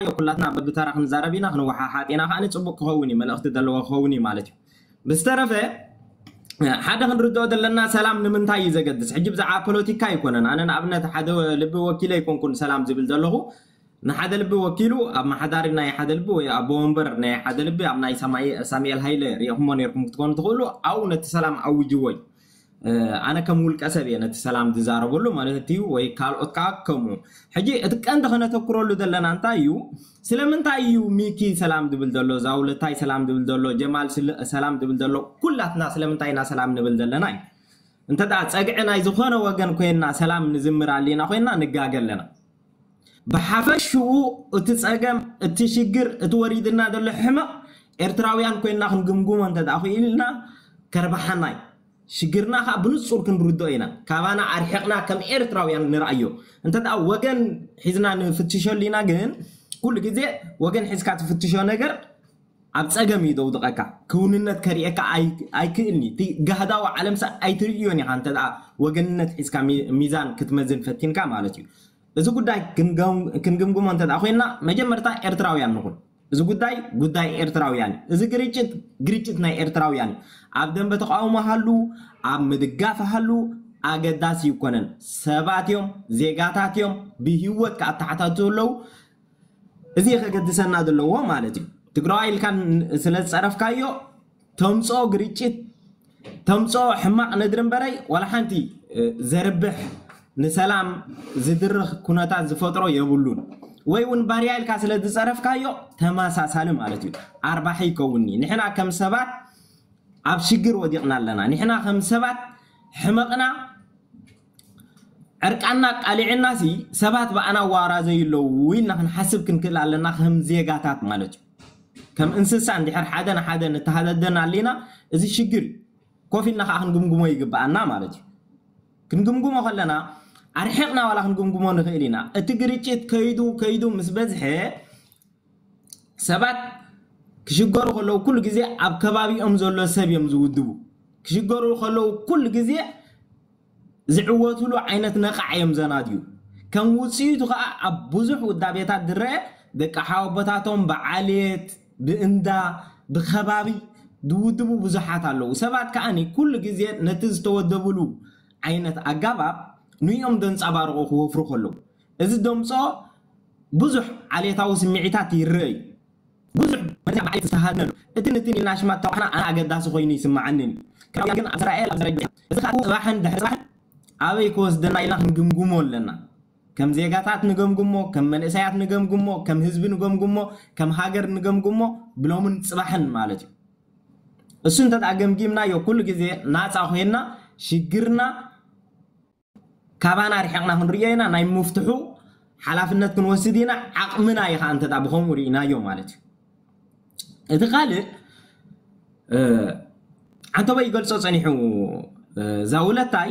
ኩላትና በብተራ ክንዛረብ ኢና፣ ክንወሓሓጥ ኢና። ከዓኒ ጽቡቕ ክኸውን እዩ፣ መልእኽቲ ዘለዎ ክኸውን እዩ ማለት እዩ። ብዝተረፈ ሓደ ክንርድኦ ዘለና፣ ሰላም ንምንታይ እዩ ዘገድስ? ሕጂ ብዛዕባ ፖለቲካ ኣይኮነን። ኣነ ንኣብነት ሓደ ልቢ ወኪለ ኣይኮንኩን ሰላም ዝብል ዘለኹ። ንሓደ ልቢ ወኪሉ ኣብ መሓዳሪ ናይ ሓደ ልቢ ወይ ኣቦ ወንበር ናይ ሓደ ልቢ ኣብ ናይ ሳማኤ-፣ ሳሙኤል ሃይለ ሪእኹሞ ነርኩም ክትኮኑ ትኽእሉ። ኣብኡ ነቲ ሰላም ኣውጅዎ እዩ። ኣነ ከም ውልቀ ሰብ እየ ነቲ ሰላም ዝዛረበሉ ማለት እዩ፣ ወይ ካልኦት ከዓ ከምኡ። ሕጂ እቲ ቀንዲ ከነተኩረሉ ዘለና እንታይ እዩ? ስለምንታይ እዩ ሚኪ ሰላም ዝብል ዘሎ፣ ዛውለታይ ሰላም ዝብል ዘሎ፣ ጀማል ስለ-፣ ሰላም ዝብል ዘሎ? ኩላትና ስለምንታይ ኢና ሰላም ንብል ዘለና እዩ? እንተ ደኣ ጸግዒ ናይ ዝኾነ ወገን ኮይንና ሰላም ንዝምር ኣሊና ኮይንና ንጋገ ኣለና። ብሓፈሽኡ እቲ ጸገም፣ እቲ ሽግር፣ እቲ ወሪድና ዘሎ ሕመቕ ኤርትራውያን ኮይንና ክንግምግሞ እንተ ደኣ ክኢልና ከርባሓና እዩ። ሽግርና ከዓ ብንጹር ክንርድኦ ኢና። ካባና ኣርሒቕና ከም ኤርትራውያን ንርኣዮ። እንተ ደኣ ወገን ሒዝና ንፍትሸሉ ኢና፣ ግን ኩሉ ግዜ ወገን ሒዝካ ትፍትሾ ነገር ኣብ ጸገም እዩ ዘውድቐካ። ክውንነት ከርእየካ ኣይ-፣ ኣይክእልኒ። እቲ ጋህዳዊ ዓለምሳ ኣይትርእዮን ኢኻ እንተ ደኣ ወገንነት ሒዝካ ሚ-፣ ሚዛን ክትመዝን ፈቲንካ ማለት እዩ። እዚ ጉዳይ ክንገም-፣ ክንግምግሞ እንተ ደኣ ኮይንና፣ መጀመርታ ኤርትራውያን ንኹን። እዚ ጉዳይ ጉዳይ ኤርትራውያን እዩ። እዚ ግርጭት ግርጭት ናይ ኤርትራውያን እዩ። ኣብ ደንበ ተቃውሞ ሃሉ፣ ኣብ ምድጋፍ ሃሉ፣ ኣገዳሲ ይኮነን። ሰባት እዮም፣ ዜጋታት እዮም፣ ብህይወት ክኣተሓታቱ ኣለዉ። እዚ ከገድሰና ዘለዎ ማለት እዩ። ትግራዋይ ኢልካ ን-፣ ስለ ዝጸረፍካዮ ተምጽኦ ግርጭት፣ ተምጽኦ ሕማቕ ነድሪ እምበረይ ዋላ ሓንቲ፣ እ፣ ዘርብሕ ንሰላም ዝድርኽ ኩነታት ዝፈጥሮ የብሉን። ወይ እውን ባርያ ኢልካ ስለ ዝጸረፍካዮ ተመሳሳሊ ማለት እዩ። ኣርባሒ ይከውንኒ። ንሕና ከም ሰባት ኣብ ሽግር ወዲቕና ኣለና። ንሕና ከም ሰባት ሕመቕና ዕርቃና ቃሊዕናሲ ሰባት ብኣና ዋራዘዩ ኣለዉ ኢልና ክንሓስብ ክንክእል ኣለና፣ ከም ዜጋታት ማለት እዩ። ከም እንስሳ እንድሕር ሓደ ንሓደ ንተሃዳደን ኣሊና፣ እዚ ሽግር እዩ። ኮፍ ኢልና ከዓ ክንግምግሞ ይግብኣና ማለት እዩ። ክንግምግሞ ከለና ኣርሒቕና ዋላ ክንግምግሞ ንኽእል ኢና። እቲ ግርጭት ከይዱ ከይዱ ምስ በዝሐ ሰባት ክሽገሩ ከለዉ ኩሉ ግዜ ኣብ ከባቢኦም ዘሎ ሰብ እዮም ዝውድቡ። ክሽገሩ ከለዉ ኩሉ ግዜ ዝዕወቱሉ ዓይነት ነቓዕ እዮም ዘናድዩ። ከም ውፅኢቱ ከዓ ኣብ ብዙሕ ውዳቤታት ዝረአ ደቂ ሓወቦታቶም ብዓሌት፣ ብእንዳ፣ ብከባቢ ዝውድቡ ብዙሓት ኣለዉ። ሰባት ከዓኒ ኩሉ ግዜ ነቲ ዝተወደቡሉ ዓይነት ኣጋባብ ንኦም ዘንጸባርቑ ክወፍሩ ከለዉ፣ እዚ ደምጾ ብዙሕ ዓሌታዊ ስምዒታት ይረአ እዩ። ብዙሕ መርዛ ብዓሌት ዝተሃድነሉ፣ እትን እትን ኢልና ሽማት ተዋሕና ኣነ ኣገዳሲ ኮይኑ ይስምዓኒ እዩ። ክራውያን ግን ኣብ ዘራኤል ኣብ ዘራኤል እዚ ከዓ ጽባሕን ድሕሪ ጽባሕን ኣበይ ክወስደና ኢልና ክንግምግሞ ኣለና። ከም ዜጋታት ንገምግሞ፣ ከም መንእሰያት ንገምግሞ፣ ከም ህዝቢ ንገምግሞ፣ ከም ሃገር ንገምግሞ ብሎምን ጽባሕን ማለት እዩ። እሱ እንተ ደኣ ገምጊምናዮ ኩሉ ግዜ ናጻ ኮይንና ሽግርና ካባና ርሒቕና ክንርእዮ ኢና። ናይ ምፍትሑ ሓላፍነት ክንወስድ ኢና። ዓቕምና እዩ ከዓ እንተ ደኣ ብኸምኡ ርኢናዮ ማለት እዩ። እቲ ካልእ፣ እ፣ ዓንተቦይ ይገልጾ ጸኒሑ፣ እ፣ ዛውለታይ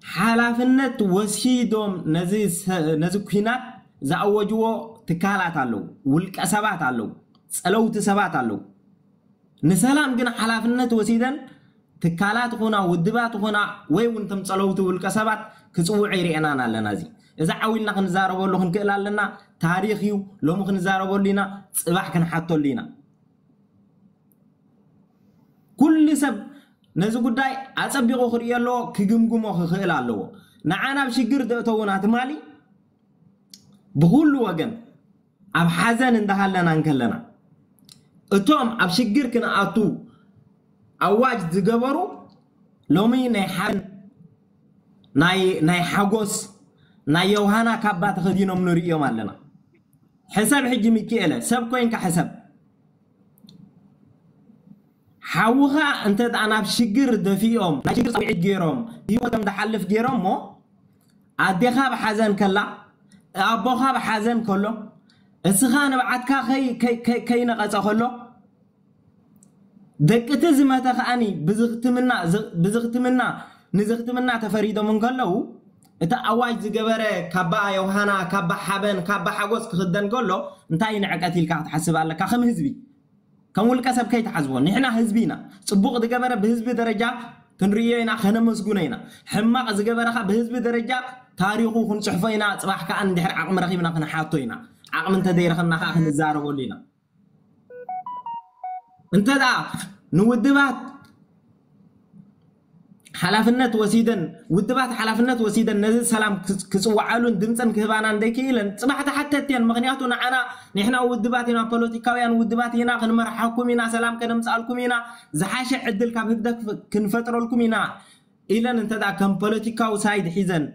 ሓላፍነት ወሲዶም ነዚ ሰ-፣ ነዚ ኲናት ዝኣወጅዎ ትካላት ኣለዉ፣ ውልቀ ሰባት ኣለዉ፣ ጸለውቲ ሰባት ኣለዉ። ንሰላም ግን ሓላፍነት ወሲደን ትካላት ኹና ውድባት ኹና ወይ እውን ተም ጸለውቲ ውልቀ ሰባት ክጽውዑ ይርኤናን ኣለና። እዚ፣ እዚ ዓው ኢልና ክንዛረበሉ ክንክእል ኣለና። ታሪኽ እዩ፣ ሎሚ ክንዛረበሉ ኢና፣ ጽባሕ ክንሓተሉ ኢና። ኩሉ ሰብ ነዚ ጉዳይ ኣጸቢቑ ክርእዮ ኣለዎ፣ ክግምግሞ ክኽእል ኣለዎ። ንዓ ናብ ሽግር ዘእተዉና ትማሊ ብኹሉ ወገን ኣብ ሓዘን እንዳሃለና እንከለና፣ እቶም ኣብ ሽግር ክንኣቱ ኣዋጅ ዝገበሩ ሎሚ ናይ ሓዘን፣ ናይ፣ ናይ ሓጎስ፣ ናይ ዮሃና ካባ ተኸዲኖም ንርእዮም ኣለና። ሕሰብ ሕጂ ሚኪኤለ፣ ሰብ ኮይንካ ሕሰብ። ሓውኻ እንተ ደኣ ናብ ሽግር ደፊኦም፣ ናይ ሽግር ጻውዒት ገይሮም፣ ህይወቶም ዝሓልፍ ገይሮም እሞ፣ ኣዴኻ ብሓዘን ከላ፣ ኣቦኻ ብሓዘን ከሎ፣ እስኻ ንብዓትካ ከይ-፣ ከይ-፣ ከይ-፣ ከይነቐጸ ከሎ፣ ደቂ እቲ ዝመተ ከኣኒ ብዝኽትምና፣ ዝ-፣ ብዝኽትምና፣ ንዝኽትምና ተፈሪዶም እንከለዉ፣ እቲ ኣዋጅ ዝገበረ ካባ ዮሃና፣ ካባ ሓበን፣ ካባ ሓጎስ ክኽደን ከሎ፣ እንታይ ንዕቀት ኢልካ ክትሓስብ ኣለካ? ከም ህዝቢ፣ ከም ውልቀ ሰብ ከይትሓስቦ፣ ንሕና ህዝቢ ኢና። ጽቡቕ ዝገበረ ብህዝቢ ደረጃ ክንርእዮ ኢና፣ ከነመስግኖ ኢና። ሕማቕ ዝገበረ ኸኣ ብህዝቢ ደረጃ ታሪኹ ክንጽሕፎ ኢና፣ ጽባሕ ከኣ እንድሕር ዓቕሚ ረኺብና ክንሓቶ ኢና። ዓቕሚ እንተዘይረኸብና ከዓ ክንዛረበሉ ኢና። እንተ ደኣ ንውድባት ሓላፍነት ወሲደን፣ ውድባት ሓላፍነት ወሲደን ነዚ ሰላም ክጽ- ክጽውዓሉን ድምፀን ክህባና እንደይክኢለን፣ ፅባሕ ተሓተትቲ እየን። ምክንያቱ ንዓና፣ ንሕና ውድባት ኢና፣ ፖለቲካውያን ውድባት ኢና፣ ክንመርሓኩም ኢና፣ ሰላም ከነምፃልኩም ኢና፣ ዝሓሸ ዕድል ካብ ህግደፍ ክንፈጥረልኩም ኢና ኢለን እንተ ደኣ ከም ፖለቲካዊ ሳይድ ሒዘን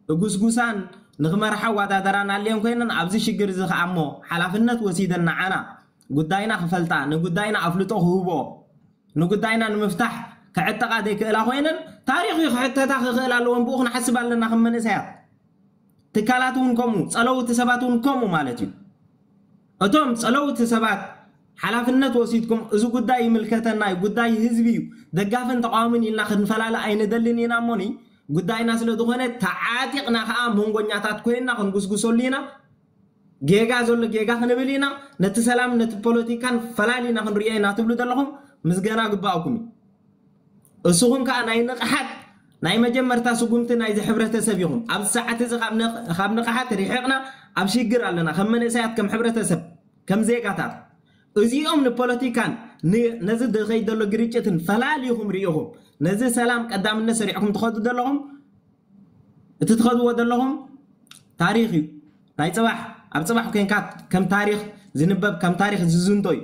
እጉስጉሳን ንክመርሓ ዋዳደራን ኣልየን ኮይነን፣ ኣብዚ ሽግር እዚ ከዓ እሞ ሓላፍነት ወሲደን ንዓና ጉዳይና ክፈልጣ፣ ንጉዳይና ኣፍልጦ ክህቦ፣ ንጉዳይና ንምፍታሕ ክዕጠቓ ዘይክእላ ኮይነን፣ ታሪኽ እዩ ክሕተታ ክኽእል ኣለዎን ብኡ ክንሓስብ ኣለና ከም መንእሰያት። ትካላት እውን ከምኡ፣ ጸለውቲ ሰባት እውን ከምኡ ማለት እዩ። እቶም ጸለውቲ ሰባት ሓላፍነት ወሲድኩም፣ እዚ ጉዳይ ይምልከተና እዩ፣ ጉዳይ ህዝቢ እዩ፣ ደጋፍን ተቃዋምን ኢልና ክንፈላለ ኣይንደልን ኢና እሞኒ፣ ጉዳይና ስለ ዝኾነ ተዓጢቕና ከዓ መንጎኛታት ኮይንና ክንጉስጉሰሉ ኢና። ጌጋ ዘሎ ጌጋ ክንብል ኢና፣ ነቲ ሰላም ነቲ ፖለቲካን ፈላሊና ክንሪኦ ኢና ትብሉ ዘለኹም ምስገና ግባእኩም እዩ። እስኹም ከዓ ናይ ንቕሓት ናይ መጀመርታ ስጉምቲ ናይዚ ሕብረተሰብ ኢኹም። ኣብዚ ሰዓት እዚ ካብ ንቕ- ካብ ንቕሓት ርሒቕና ኣብ ሽግር ኣለና፣ ከም መንእሰያት፣ ከም ሕብረተሰብ፣ ከም ዜጋታት። እዚኦም ንፖለቲካን ን- ነዚ ዝኸይድ ዘሎ ግርጭትን ፈላሊኹም ርኢኹም ነዚ ሰላም ቀዳምነት ሰሪዕኩም ትኸዱ ዘለኹም፣ እቲ ትኸድዎ ዘለኹም ታሪኽ እዩ። ናይ ፅባሕ፣ ኣብ ፅባሕ ኮንካ ከም ታሪኽ ዝንበብ፣ ከም ታሪኽ ዝዝንቶ እዩ።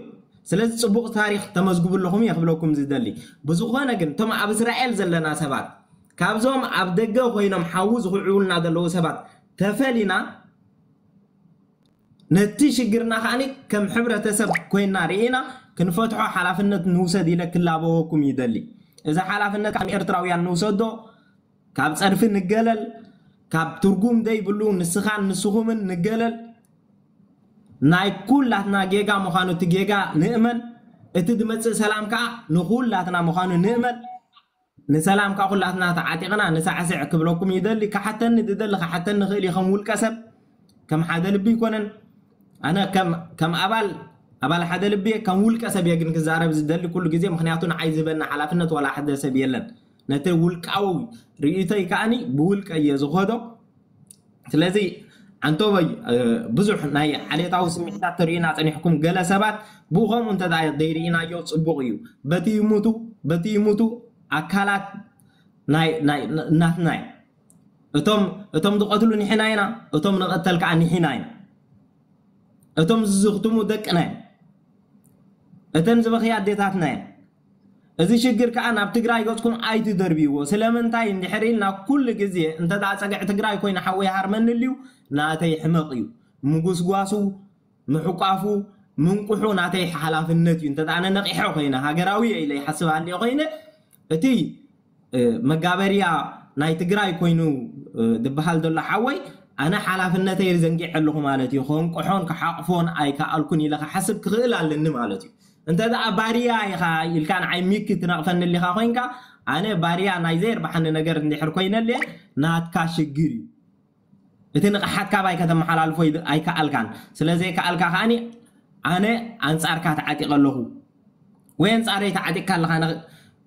ስለዚ ፅቡቕ ታሪኽ ተመዝግቡ ኣለኹም እየ ክብለኩም ዝደሊ። ብዝኾነ ግን እቶም ኣብ እስራኤል ዘለና ሰባት፣ ካብዞም ኣብ ደገ ኮይኖም ሓዊ ዝኹዕቡልና ዘለዉ ሰባት ተፈሊና፣ ነቲ ሽግርና ከዓኒ ከም ሕብረተሰብ ኮይና ርኢና ክንፈትሖ ሓላፍነት ንውሰድ ኢለ ክላበወኩም ይደሊ። እዚ ሓላፍነት ከም ኤርትራውያን ንውሰዶ፣ ካብ ጸድፊ ንገለል፣ ካብ ትርጉም ዘይብሉ ንስኻን ንስኹምን ንገለል። ናይ ኩላትና ጌጋ ምዃኑ እቲ ጌጋ ንእመን፣ እቲ ዝመጽእ ሰላም ከኣ ንኹላትና ምዃኑ ንእመን። ንሰላም ከኣ ኩላትና ተዓጢቕና ንሳዕስዕ ክብለኩም ይደሊ። ክሓተኒ ዝደሊ ክሓተኒ ይኽእል እዩ፣ ከም ውልቀ ሰብ፣ ከም ሓደ ልቢ ኣይኮነን። ኣነ ከም ከም ኣባል ኣባል ሓደ ልቢ እየ፣ ከም ውልቀ ሰብ እየ ግን ክዛረብ ዝደሊ ኩሉ ግዜ፣ ምኽንያቱ ንዓይ ዝህበኒ ሓላፍነት ዋላ ሓደ ሰብ የለን። ነቲ ውልቃዊ ርእይቶይ ከኣኒ ብውልቀ እየ ዝኸዶ። ስለዚ ዓንቶበይ፣ እ፣ ብዙሕ ናይ ዓሌታዊ ስምዒታት ተርእዩና ጸኒሕኩም፣ ገለ ሰባት ብኡ ከምኡ እንተ ደኣ ዘይርኢናዮ ጽቡቕ እዩ። በቲ ይሙቱ፣ በቲ ይሙቱ ኣካላት ናይ ናይ ናትና እዮም። እቶም እቶም ዝቐትሉ ንሕና ኢና፣ እቶም ንቐተል ከኣ ንሕና ኢና። እቶም ዝዝኽትሙ ደቅና እዮም። እተን ዝበኽያ ኣዴታትና እየን። እዚ ሽግር ከኣ ናብ ትግራይ ገጽኩም ኣይትደርብይዎ። ስለምንታይ እንድሕር ኢልና ኩሉ ግዜ እንተ ደኣ ጸግዒ ትግራይ ኮይኑ ሓወይ ሃርመኒ ልዩ ናተይ ሕመቕ እዩ። ምጉስጓሱ፣ ምሕቋፉ፣ ምንቁሑ ናተይ ሓላፍነት እዩ። እንተ ደኣ ኣነ ነቒሐ ኮይነ፣ ሃገራዊ እየ ኢለ ይሓስብ ኣልየ ኮይነ፣ እቲ እ፣ መጋበርያ ናይ ትግራይ ኮይኑ፣ እ፣ ዝበሃል ዘሎ ሓወይ ኣነ ሓላፍነተይ ዘንጊዐ ኣለኹ ማለት እዩ። ከንቅሖን ክሓቕፎን ኣይከኣልኩን ኢለ ክሓስብ ክኽእል ኣለኒ ማለት እዩ። እንተ ደኣ ባርያ ኢኻ ኢልካ ንዓይ ሚክ ትነቕፈኒ ኣሊኻ ኮይንካ፣ ኣነ ባርያ ናይ ዘየርባሓኒ ነገር እንድሕር ኮይነልየ ናትካ ሽግር እዩ። እቲ ንቕሓት ካባይ ከተመሓላልፎ ይድ- ኣይከኣልካን። ስለ ዘይከኣልካ ከኣኒ ኣነ ኣንጻርካ ተዓጢቐ ኣለኹ ወይ ኣንጻረይ ተዓጢቕካ ኣለኻ። ነ-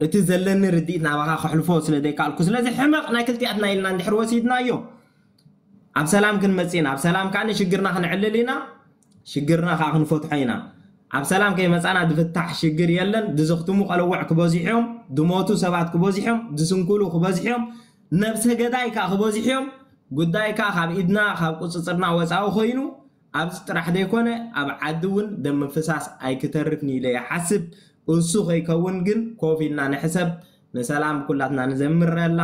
እቲ ዘለኒ ርድኢት ናባኻ ከሕልፎ ስለ ዘይከኣልኩ፣ ስለዚ ሕመቕ ናይ ክልቲኣትና ኢልና እንድሕር ወሲድናዮ ኣብ ሰላም ክንመጽእ ኢና። ኣብ ሰላም ከኣ ሽግርና ክንዕልል ኢና፣ ሽግርና ከኣ ክንፈትሖ ኢና። ኣብ ሰላም ከይመጻና ዝፍታሕ ሽግር የለን። ዝዘኽትሙ ቀለውዕ ክበዝሑ እዮም፣ ዝሞቱ ሰባት ክበዝሑ እዮም፣ ዝስንክሉ ክበዝሑ እዮም፣ ነብሰ ገዳይ ከኣ ክበዝሑ እዮም። ጉዳይ ከኣ ካብ ኢድና ካብ ቁጽጽርና ወጻኢ ኮይኑ ኣብዚ ጥራሕ ዘይኮነ ኣብ ዓዲ እውን ደም ምፍሳስ ኣይክተርፍን ኢለ ይሓስብ። እሱ ከይከውን ግን ኮፍ ኢልና ንሕሰብ። ንሰላም ኩላትና ንዘምረላ፣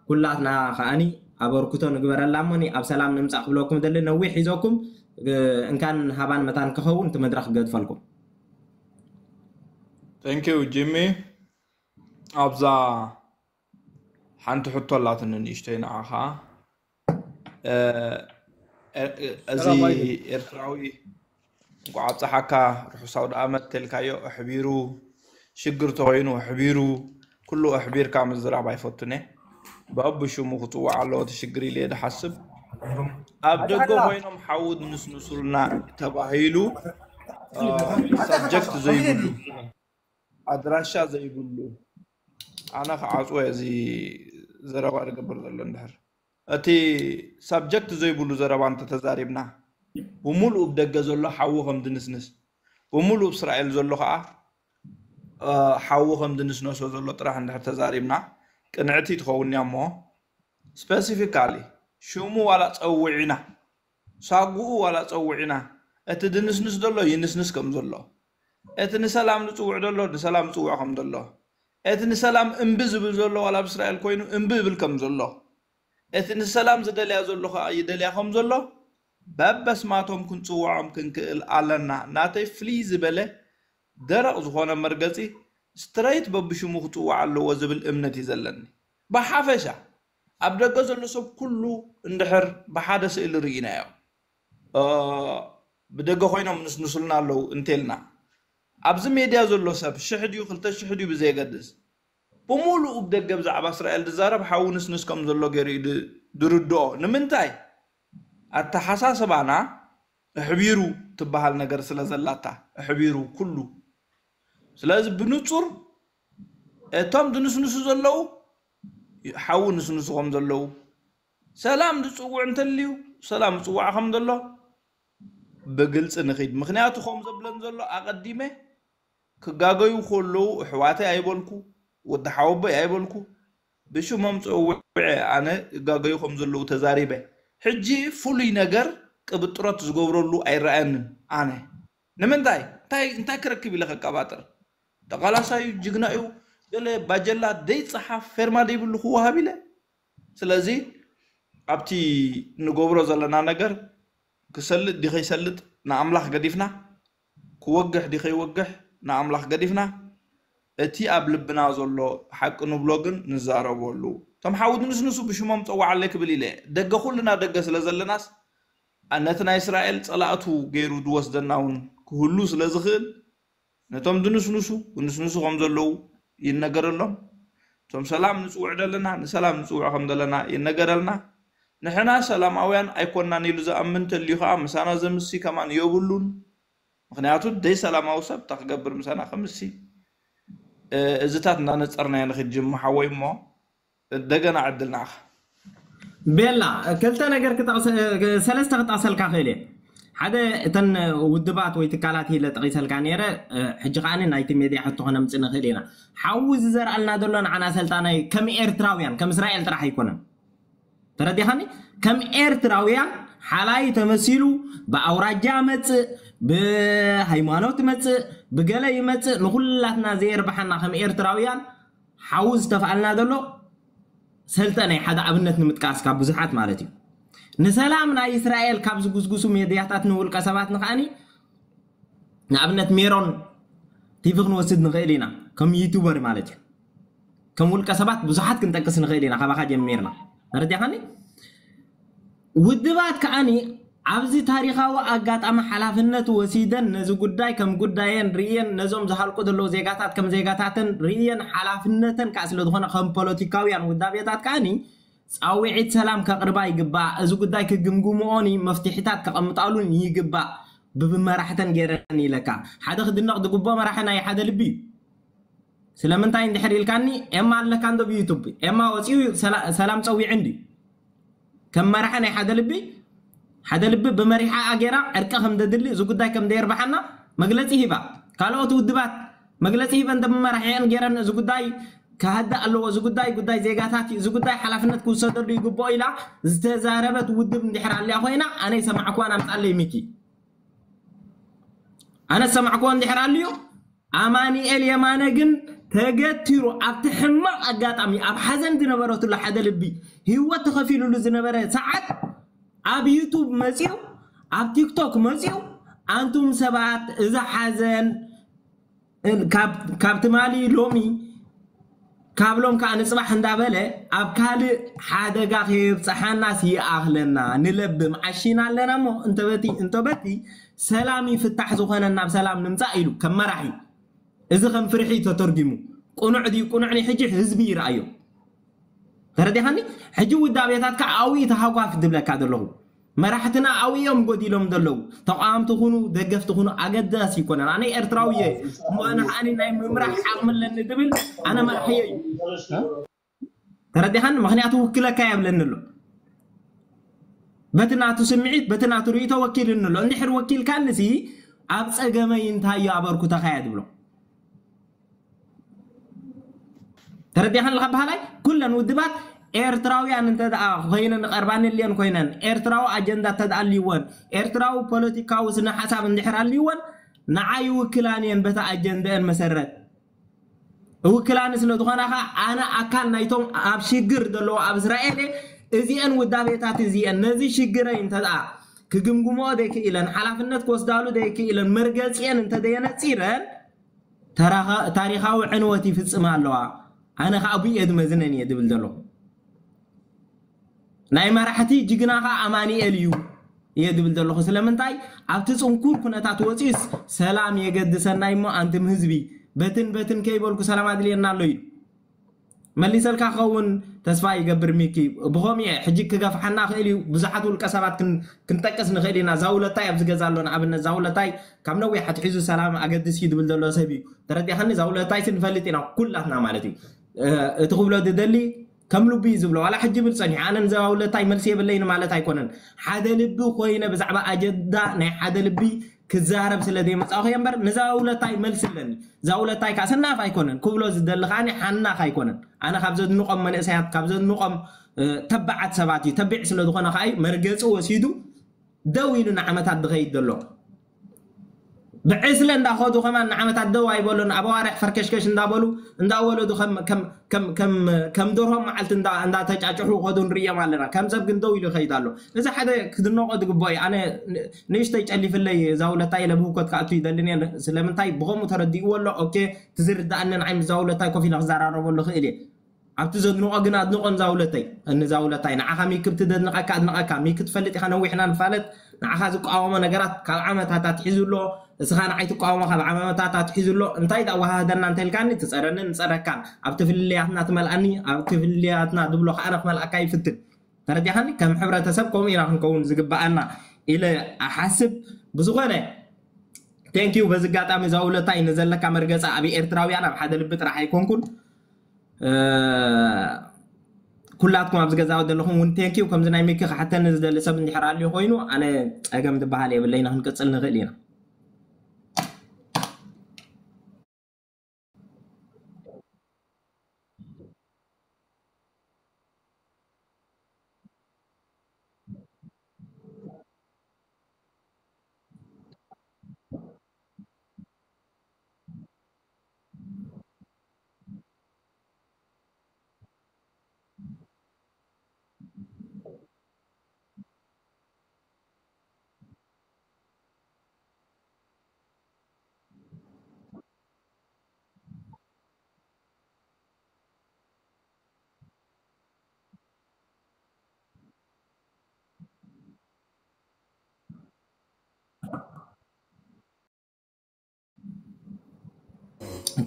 ኩላትና ከኣኒ ኣበርክቶ ንግበረላ። እሞኒ ኣብ ሰላም ንምጻእ ክብለኩም ደሊ ነዊሕ ሒዘኩም፣ እ፣ እንካን ሃባን መታን ክኸውን እቲ መድረኽ ክገድፈልኩም። Thank you ጂሚ። ኣብዛ ሓንቲ ሕቶ ኣላትኒ ንእሽተይ ንዓኻ። እ፣ እ፣ እዚ ሰላም ኣይደል ኤርትራዊ እንኳዕ ኣብፀሓካ ርሑስ ኣውደ ኣመት ተልካዮ ኣሕቢሩ ሽግር ተኮይኑ ኣሕቢሩ ኩሉ ኣሕቢርካ ምዝራብ ኣይፈቱን እየ። በብሽሙ ክፅዋዕ ኣለዎ እቲ ሽግር ኢለ እየ ዝሓስብ። ኣብ ደገ ኣጣላ ኮይኖም ሓዊ ንስንሱልና ተባሂሉ እ፣ ሳብጀክት ዘይብሉ ኣድራሻ ዘይብሉ ኣነ ክዓፅወ እዚ ዘረባ ዝገብር ዘሎ እንድሕር እቲ ሳብጀክት ዘይብሉ ዘረባ እንተተዛሪብና ብምሉእ ብደገ ዘሎ ሓዊ ከም ድንስንስ፣ ብምሉእ እስራኤል ዘሎ ከዓ ሓዊ ከም ድንስነሶ ዘሎ ጥራሕ እንድሕር ተዛሪብና ቅንዕቲ ትኸውን እያ። እሞ ስፐሲፊካሊ ሽሙ ዋላ ፀውዒና፣ ሳጉኡ ዋላ ፀውዒና፣ እቲ ድንስንስ ዘሎ ይንስንስ ከም ዘሎ፣ እቲ ንሰላም ዝፅውዕ ዘሎ ንሰላም ዝፅውዕ ከም ዘሎ፣ እቲ ንሰላም እምቢ ዝብል ዘሎ ዋላ ኣብ እስራኤል ኮይኑ እምቢ እብል ከም ዘሎ፣ እቲ ንሰላም ዝደልያ ዘሎ ከዓ ይደልያ ከም ዘሎ በበስማቶም ክንፅውዖም ክንክእል ኣለና። ናተይ ፍልይ ዝበለ ደረቕ ዝኾነ መርገፂ ስትረይት በብሽሙ ክፅዋዕ ኣለዎ ዝብል እምነት እዩ ዘለኒ። ብሓፈሻ ኣብ ደገ ዘሎ ሰብ ኩሉ እንድሕር ብሓደ ስእሊ ርኢናዮ፣ ብደገ ኮይኖም ንስንሱልና ኣለዉ እንቴልና፣ ኣብዚ ሜድያ ዘሎ ሰብ ሽሕ ድዩ ክልተ ሽሕ ድዩ ብዘየገድስ ብምሉኡ ብደገ ብዛዕባ እስራኤል ዝዛረብ ሓዊ ንስንስ ከም ዘሎ ገይሩ እዩ ድርድኦ። ንምንታይ? ኣተሓሳስባና ኣሕቢሩ ትበሃል ነገር ስለ ዘላታ፣ ኣሕቢሩ ኩሉ። ስለዚ ብንጹር እቶም ዝንስንሱ ዘለዉ ሓዊ ንስንሱ ከም ዘለዉ፣ ሰላም ዝጽውዕ እንተልዩ ሰላም ዝጽዋዕ ከም ዘሎ ብግልጺ ንኺድ። ምኽንያቱ ከም ዘብለን ዘሎ ኣቐዲመ ክጋገዩ ከለዉ ኣሕዋተይ ኣይበልኩ፣ ወዲ ሓወቦይ ኣይበልኩ፣ ብሽሞም ጸዊዐ ኣነ ክጋገዩ ከም ዘለዉ ተዛሪበ። ሕጂ ፍሉይ ነገር ቅብጥሮት ዝገብረሉ ኣይረኣየንን ኣነ። ንምንታይ? እንታይ እንታይ ክረክብ ኢለ ከቀባጥር? ተቓላሳዩ ጅግና እዩ፣ ገለ ባጀላ ደይጸሓፍ ፌርማ ደይብሉ ክወሃብ ኢለ። ስለዚ ኣብቲ ንገብሮ ዘለና ነገር ክሰልጥ ድዩ ከይሰልጥ ንኣምላኽ ገዲፍና፣ ክወግሕ ድዩ ከይወግሕ ንኣምላኽ ገዲፍና፣ እቲ ኣብ ልብና ዘሎ ሓቂ ንብሎ ግን ንዛረበሉ። እቶም ሓዊ ድንስንሱ ብሽሞም ጸዋዓለይ ክብል ኢለ ደገ ኩልና ደገ ስለ ዘለናስ ነቲ ናይ እስራኤል ጸላእቱ ገይሩ ዝወስደና እውን ክህሉ ስለ ዝኽእል ነቶም ድንስንሱ ክንስንሱ ከም ዘለዉ ይነገረሎም። እቶም ሰላም ንጽውዕ ዘለና ንሰላም ንጽውዕ ከም ዘለና ይነገረልና። ንሕና ሰላማውያን ኣይኮናን ኢሉ ዝኣምን እንተልዩ ከዓ ምሳና ዘምሲ ከማን የብሉን። ምክንያቱ ደይ ሰላማዊ ሰብ እንታይ ክገብር ምሳና ከምሲ እዝታት እንዳነፀርናዮ ንክድ ጅሙ ሓወይ እሞ እንደገና ዕድል ንዓኻ። ቤላ ክልተ ነገር ክጠቕሰ- ሰለስተ ክጠቕሰልካ ክእል እየ። ሓደ እተን ውድባት ወይ ትካላት ኢለ ጠቒሰልካ ነይረ። ሕጂ ከዓኒ ናይቲ ሜድያ ሕቶ ከነምፅእ ንኽእል ኢና። ሓዊ ዝዘርኣልና ዘሎ ንዓና ሰልጣናይ ከም ኤርትራውያን ከም እስራኤል ጥራሕ ኣይኮነን። ተረዲኻኒ? ከም ኤርትራውያን ሓላይ ተመሲሉ ብኣውራጃ መፅእ፣ ብሃይማኖት መፅእ፣ ብገለ ይመፅእ፣ ንኩላትና ዘየርብሓና ከም ኤርትራውያን ሓዊ ዝተፍኣልና ዘሎ ሰልጠነ ሓደ ኣብነት ንምጥቃስ ካብ ብዙሓት ማለት እዩ። ንሰላም ናይ እስራኤል ካብ ዝጉስጉሱ ሜድያታት ንውልቀ ሰባት ንኸዓኒ ንኣብነት ሜሮን ቲቪ ክንወስድ ንኽእል ኢና ከም ዩቱበር ማለት እዩ። ከም ውልቀ ሰባት ብዙሓት ክንጠቅስ ንኽእል ኢና ካባኻ ጀሚርና። ተረዲኻኒ? ውድባት ከዓኒ ኣብዚ ታሪኻዊ ኣጋጣሚ ሓላፍነት ወሲደን ነዚ ጉዳይ ከም ጉዳየን ርእየን ነዞም ዝሃልቁ ዘለዉ ዜጋታት ከም ዜጋታተን ርእየን ሓላፍነተን ከዓ ስለ ዝኾነ ከም ፖለቲካውያን ውዳቤታት ከዓኒ ፃውዒት ሰላም ከቕርባ ይግባእ። እዚ ጉዳይ ክግምግምኦን መፍትሒታት ከቐምጣሉን ይግባእ። ብብመራሕተን ገይረን ኢለካ ሓደ ክድነቕ ዝግብኦ መራሒ ናይ ሓደ ልቢ እዩ። ስለምንታይ እንድሕር ኢልካኒ ኤማ ኣለካ እንዶ ብዩቱብ ኤማ ወፂኡ ሰላ- ሰላም ፀዊዑ እንዲ ከም መራሒ ናይ ሓደ ልቢ ሓደ ልቢ ብመሪሓ ኣጌራ ዕርቂ ከም ደድሊ እዚ ጉዳይ ከም ደየርባሓና መግለፂ ሂባ። ካልኦት ውድባት መግለፂ ሂበን ደመራሒአን ገይረን እዚ ጉዳይ ክሃደ ኣለዎ፣ እዚ ጉዳይ ጉዳይ ዜጋታት እዩ፣ እዚ ጉዳይ ሓላፍነት ክውሰደሉ ይግብኦ ኢላ ዝተዛረበት ውድብ እንድሕር ኣልያ ኮይና ኣነ ይሰማዕኩዋን ኣምፃለይ ሚኪ ኣነ ዝሰማዕኩዎ እንድሕር ኣልዩ ኣማኒኤል የማነ ግን ተገቲሩ ኣብቲ ሕማቕ ኣጋጣሚ ኣብ ሓዘን ዝነበረትሉ ሓደ ልቢ ህይወት ተኸፊሉሉ ዝነበረ ሰዓት ኣብ ዩቱብ መፅዩ ኣብ ቲክቶክ መፅዩ ኣንቱም ሰባት እዚ ሓዘን ካብ ትማሊ ሎሚ ካብ ሎም ከዓ ንፅባሕ እንዳበለ ኣብ ካልእ ሓደጋ ከየብፅሓናስ ይኣኽለና ንለብም ዓሺና ኣለና እሞ እንተበቲ እንተበቲ ሰላም ይፍታሕ ዝኾነን ናብ ሰላም ንምፃእ ኢሉ ከም መራሒ እዚ ከም ፍርሒ ተተርጊሙ ቅኑዕ ድዩ ቅኑዕ ናይ ሕጂ ህዝቢ ይረኣዮ ተረዲኻኒ ሕጂ ውዳቤታት ከዓ ኣውይ ተሃጓፍ ዝብለካ ዘለኹ መራሕትና ኣውዮም ጎዲሎም ዘለዉ ተቃወምቲ ኩኑ ደገፍቲ ኩኑ ኣገዳሲ ይኮነን ኣነ ኤርትራዊ እየ እሞ ኣነ ከዓኒ ናይ ምምራሕ ዓቕሚ ኣለኒ ዝብል ኣነ መራሕዮ እዩ ተረዲኻኒ ምክንያቱ ውክለካ የብለኒ ኣሎ በቲ ናቱ ስምዒት በቲ ናቱ ርእይቶ ወኪልኒ ኣሎ። እንድሕር ወኪልካንሲ ኣብ ጸገመይ እንታዮ ኣበርኩተኻ እየ ትብሎ። ተረዲኻን ኣለኻ በሃላይ? ኩለን ውድባት ኤርትራውያን እንተ ደኣ ኮይነን፣ ቀርባን እልየን ኮይነን፣ ኤርትራዊ ኣጀንዳ እንተ ደኣ ኣልይወን፣ ኤርትራዊ ፖለቲካዊ ስነ ሓሳብ እንድሕር ኣልይወን፣ ንዓይ ይውክላን እየን በቲ ኣጀንደአን መሰረት። እውክላኒ ስለ ዝኾና ኸዓ ኣነ ኣካል ናይቶም ኣብ ሽግር ዘለዉ ኣብ እስራኤል እየ። እዚአን ውዳቤታት እዚአን ነዚ ሽግረይ እንተ ደኣ ክግምግምኦ ዘይክኢለን፣ ሓላፍነት ክወስዳሉ ዘይክኢለን፣ መርገጺአን እንተ ደየነጺረን፣ ተራኻ-፣ ታሪኻዊ ዕንወት ይፍጽማ ኣለዋ። ኣነ ኸዓ ብኡ እየ ዝመዝነን እየ ዝብል ዘለኹ። ናይ መራሕቲ ጅግና ኸዓ ኣማኑኤል እዩ እየ ዝብል ዘለኹ። ስለምንታይ ኣብቲ ጽንኩር ኩነታት ወፂኡስ ሰላም የገድሰና እሞ ኣንትም ህዝቢ በትን በትን ከይበልኩ ሰላም ኣድልየና ኣሎ ኢሉ መሊሰልካ ክኸውን ተስፋ ይገብር። ሚኪ ብኸምኡ እየ ሕጂ ክገፍሓና ክእል እዩ። ብዙሓት ውልቀ ሰባት ክን-፣ ክንጠቅስ ንኽእል ኢና። ዛውለታይ ኣብዚ ገዛ ኣሎ ንኣብነት ዛውለታይ ካብ ነዊሕ ኣትሒዙ ሰላም ኣገድስ እዩ ዝብል ዘሎ ሰብ እዩ። ተረዲእኻኒ? ዛውለታይሲ ንፈልጥ ኢና ኩላትና ማለት እዩ። እ፣ እቲ ክብሎ ዝደሊ ከም ልቡ እዩ ዝብሎ። ዋላ ሕጂ ይብል ጸኒሑ። ኣነ ንዛውለታይ መልሲ የብለይን ማለት ኣይኮነን። ሓደ ልቢ ኮይነ ብዛዕባ ኣጀንዳ ናይ ሓደ ልቢ ክዛረብ ስለ ዘይመጻኹ እየ እምበር ንዛውለታይ መልሲ ኣለኒ። ዛውለታይ ከዓ ሰናፍ ኣይኮነን። ክብሎ ዝደሊ ከዓ ሓናኽ ኣይኮነን። ኣነ ካብ ዘድንቖም መንእሰያት፣ ካብ ዘድንቖም፣ እ፣ ተባዓት ሰባት እዩ። ተቢዕ ስለ ዝኾነ ከዓ እዩ መርገጺ ወሲዱ ደው ኢሉ ንዓመታት ዝኸይድ ዘሎ። ብዕስለ እንዳኸዱ ከማን ንዓመታት ደው ኣይበሉን። ኣብ ኣዋርሕ ፈርከሽከሽ እንዳበሉ፣ እንዳወለዱ ከም፣ ከም፣ ከም፣ ከም፣ ከም ደርሆም መዓልቲ እንዳ-፣ እንዳተጫጭሑ ከዱ ንርእዮም ኣለና። ከም ሰብ ግን ደው ኢሉ ይኸይድ ኣሎ። እዚ ሓደ ክድነቆ ዝግብኦ እዩ። ኣነ ን-፣ ንእሽተይ ጨሊፍለይ እዛ ውለታ ኢለ ብህውከት ክኣቱ ይደልን እየ። ስለምንታይ ብኸምኡ ተረዲእዎ ኣሎ። ኦኬ፣ እቲ ዝርድኣኒ ንዓይ ምስ እዛ ውለታይ ኮፍ ኢለ ክዘራረበሉ ክእል እየ። ኣብቲ ዘድንቆ ግን ኣድንቆ ንዛ ውለተይ፣ ንዛ ውለታይ። ንዓኻ ሚኪ ብቲ ዘድንቀካ ኣድንቀካ። ሚኪ ትፈልጥ ኢኻ፣ ነዊሕና ንፋለጥ። ንዓኻ ዝቃወሞ ነገራት ካብ ዓመታት ኣትሒዙ ኣሎ። እስኻ ንዓይ ትቃወሞ ካብ ዓመታት ኣትሒዙ ኣሎ። እንታይ ደኣ ወሃህደና እንተልካኒ፣ ትጸረንን ንጸረካን። ኣብቲ ፍልልያትና ትመልኣኒ፣ ኣብቲ ፍልልያትና ዝብሎ ከኣ ክመልኣካ ይፍትን። ተረዲኻኒ? ከም ሕብረተሰብ ከምኡ ኢና ክንከውን ዝግብኣና ኢለ እሓስብ። ብዝኾነ፣ ቴንኪዩ። በዚ ኣጋጣሚ እዛ ውለታይ ንዘለካ መርገጻ ኣብ ኤርትራውያን ኣብ ሓደ ልቢ ጥራሕ ኣይኮንኩን። እ፣ ኩላትኩም ኣብዚ ገዛ ዘለኹም እውን ቴንኪዩ። ከምዚ ናይ ሚኪ ክሓተኒ ዝደሊ ሰብ እንድሕር ኣልዩ ኮይኑ፣ ኣነ ጸገም ዝበሃል የብለይን፣ ክንቅጽል ንኽእል ኢና።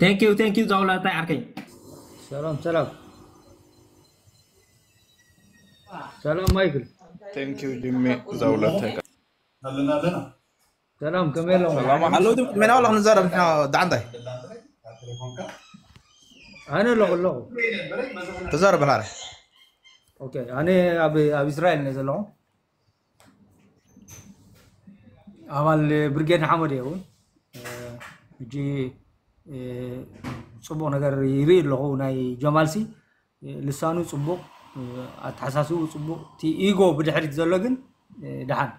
ቴንኪዩ፣ ቴንኪዩ ዛውላታይ ዓርከይ። ሰላም፣ ሰላም። ሰላም ማይክል። ቴንኪዩ ጂሚ ዛውላታይ። ሰላም፣ ከመይ ኣለኹም? ሰላም። ኣለዉ ድም-፣ መን ኣለኹም ንዛረብ ንሕና ደዓንታይ? ኣነ ኣለኹ፣ ኣለኹ። ተዛረብ በል ሓደ። ኦኬ፣ ኣነ ኣብ፣ ኣብ እስራኤል እየ ዘለኹ። ኣባል ብርጌድ ንሓመድ እየ እውን። እ፣ ሕጂ፣ እ፣ ጽቡቕ ነገር ይርኢ ኣለኹ። ናይ ጀማልሲ፣ እ፣ ልሳኑ ጽቡቕ፣ እ፣ ኣተሓሳስብኡ ጽቡቕ፣ እቲ ኢጎ ብድሕሪት ዘሎ ግን፣ እ፣ ደሓን።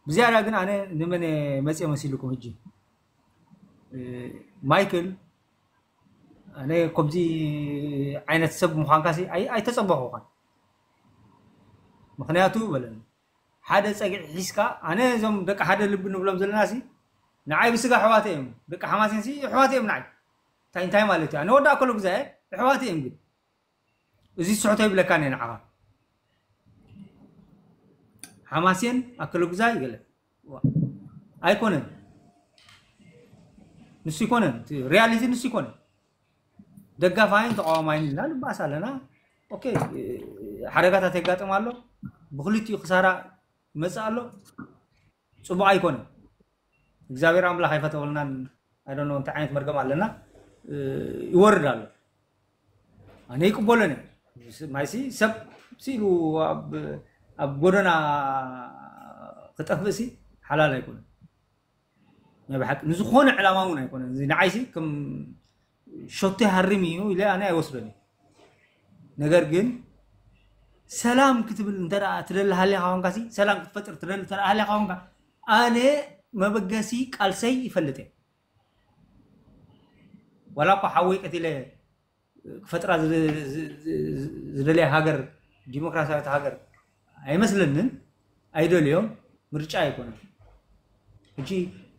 ብዝያዳ ግን ኣነ ንመን እየ መጽየ መሲልኩም ሕጂ? እ፣ ማይክል፣ ኣነ ከምዚ ዓይነት ሰብ ምዃንካሲ ኣይ-፣ ኣይተጸበኹኻን። ምኽንያቱ በለኒ፣ ሓደ ጸግዒ ሒዝካ፣ ኣነ እዞም ደቂ ሓደ ልቢ ንብሎም ዘለናሲ፣ ንዓይ ብስጋ ኣሕዋተ እዮም። ደቂ ሓማሴንሲ ኣሕዋተ እዮም ንዓይ። እንታይ፣ እንታይ ማለት እዩ? ኣነ ወዲ ኣከለጉዛይ እየ፣ ኣሕዋተ እዮም ግን። እዚ ስሕቶ ይብለካን እየ ንዓኻ። ሓማሴን፣ ኣከለጉዛይ ገለ። ዋ። ኣይኮነን። ንሱ ይኮነን። እቲ ሪያሊቲ ንሱ ይኮነን። ደጋፋይን ተቃዋማይን ኢልና ንባኣስ ኣለና። ኦኬ፣ ሓደጋታት የጋጥም ኣሎ። ብክልቲኡ ክሳራ ይመጽእ ኣሎ። ጽቡቕ ኣይኮነን። እግዚኣብሔር ኣምላኽ ኣይፈተወልናን። I don't know እንታይ ዓይነት መርገም ኣለና። እ፣ ይወርድ ኣሎ። ኣነ ይቅበሎን እየ። ማይሲ ሰብ ሲሉ ኣብ፣ ኣብ ጎደና ክጠፍእ ሲ ሓላል ኣይኮነን። ናይ ብሓቂ ንዝኾነ ዕላማ እውን ኣይኮነን። እዚ ንዓይሲ ከም ሸቶ ይሃርም እዩ ኢለ ኣነ ኣይወስዶን እየ። ነገር ግን ሰላም ክትብል እንተ ደኣ ትደሊ ሃሊኻ ኾንካ ሲ፣ ሰላም ክትፈጥር ትደሊ እንተ ደኣ ሃሊኻ ኾንካ፣ ኣነ መበገሲ ቃልሰይ ይፈልጥ እየ። ዋላ እኳ ሓወይ ቀቲለ ክፈጥራ ዝደ- ዝ- ዝ- ዝደለየ ሃገር፣ ዲሞክራሲያዊት ሃገር ኣይመስለንን። ኣይደልዮም፣ ምርጫ ኣይኮነን። ሕጂ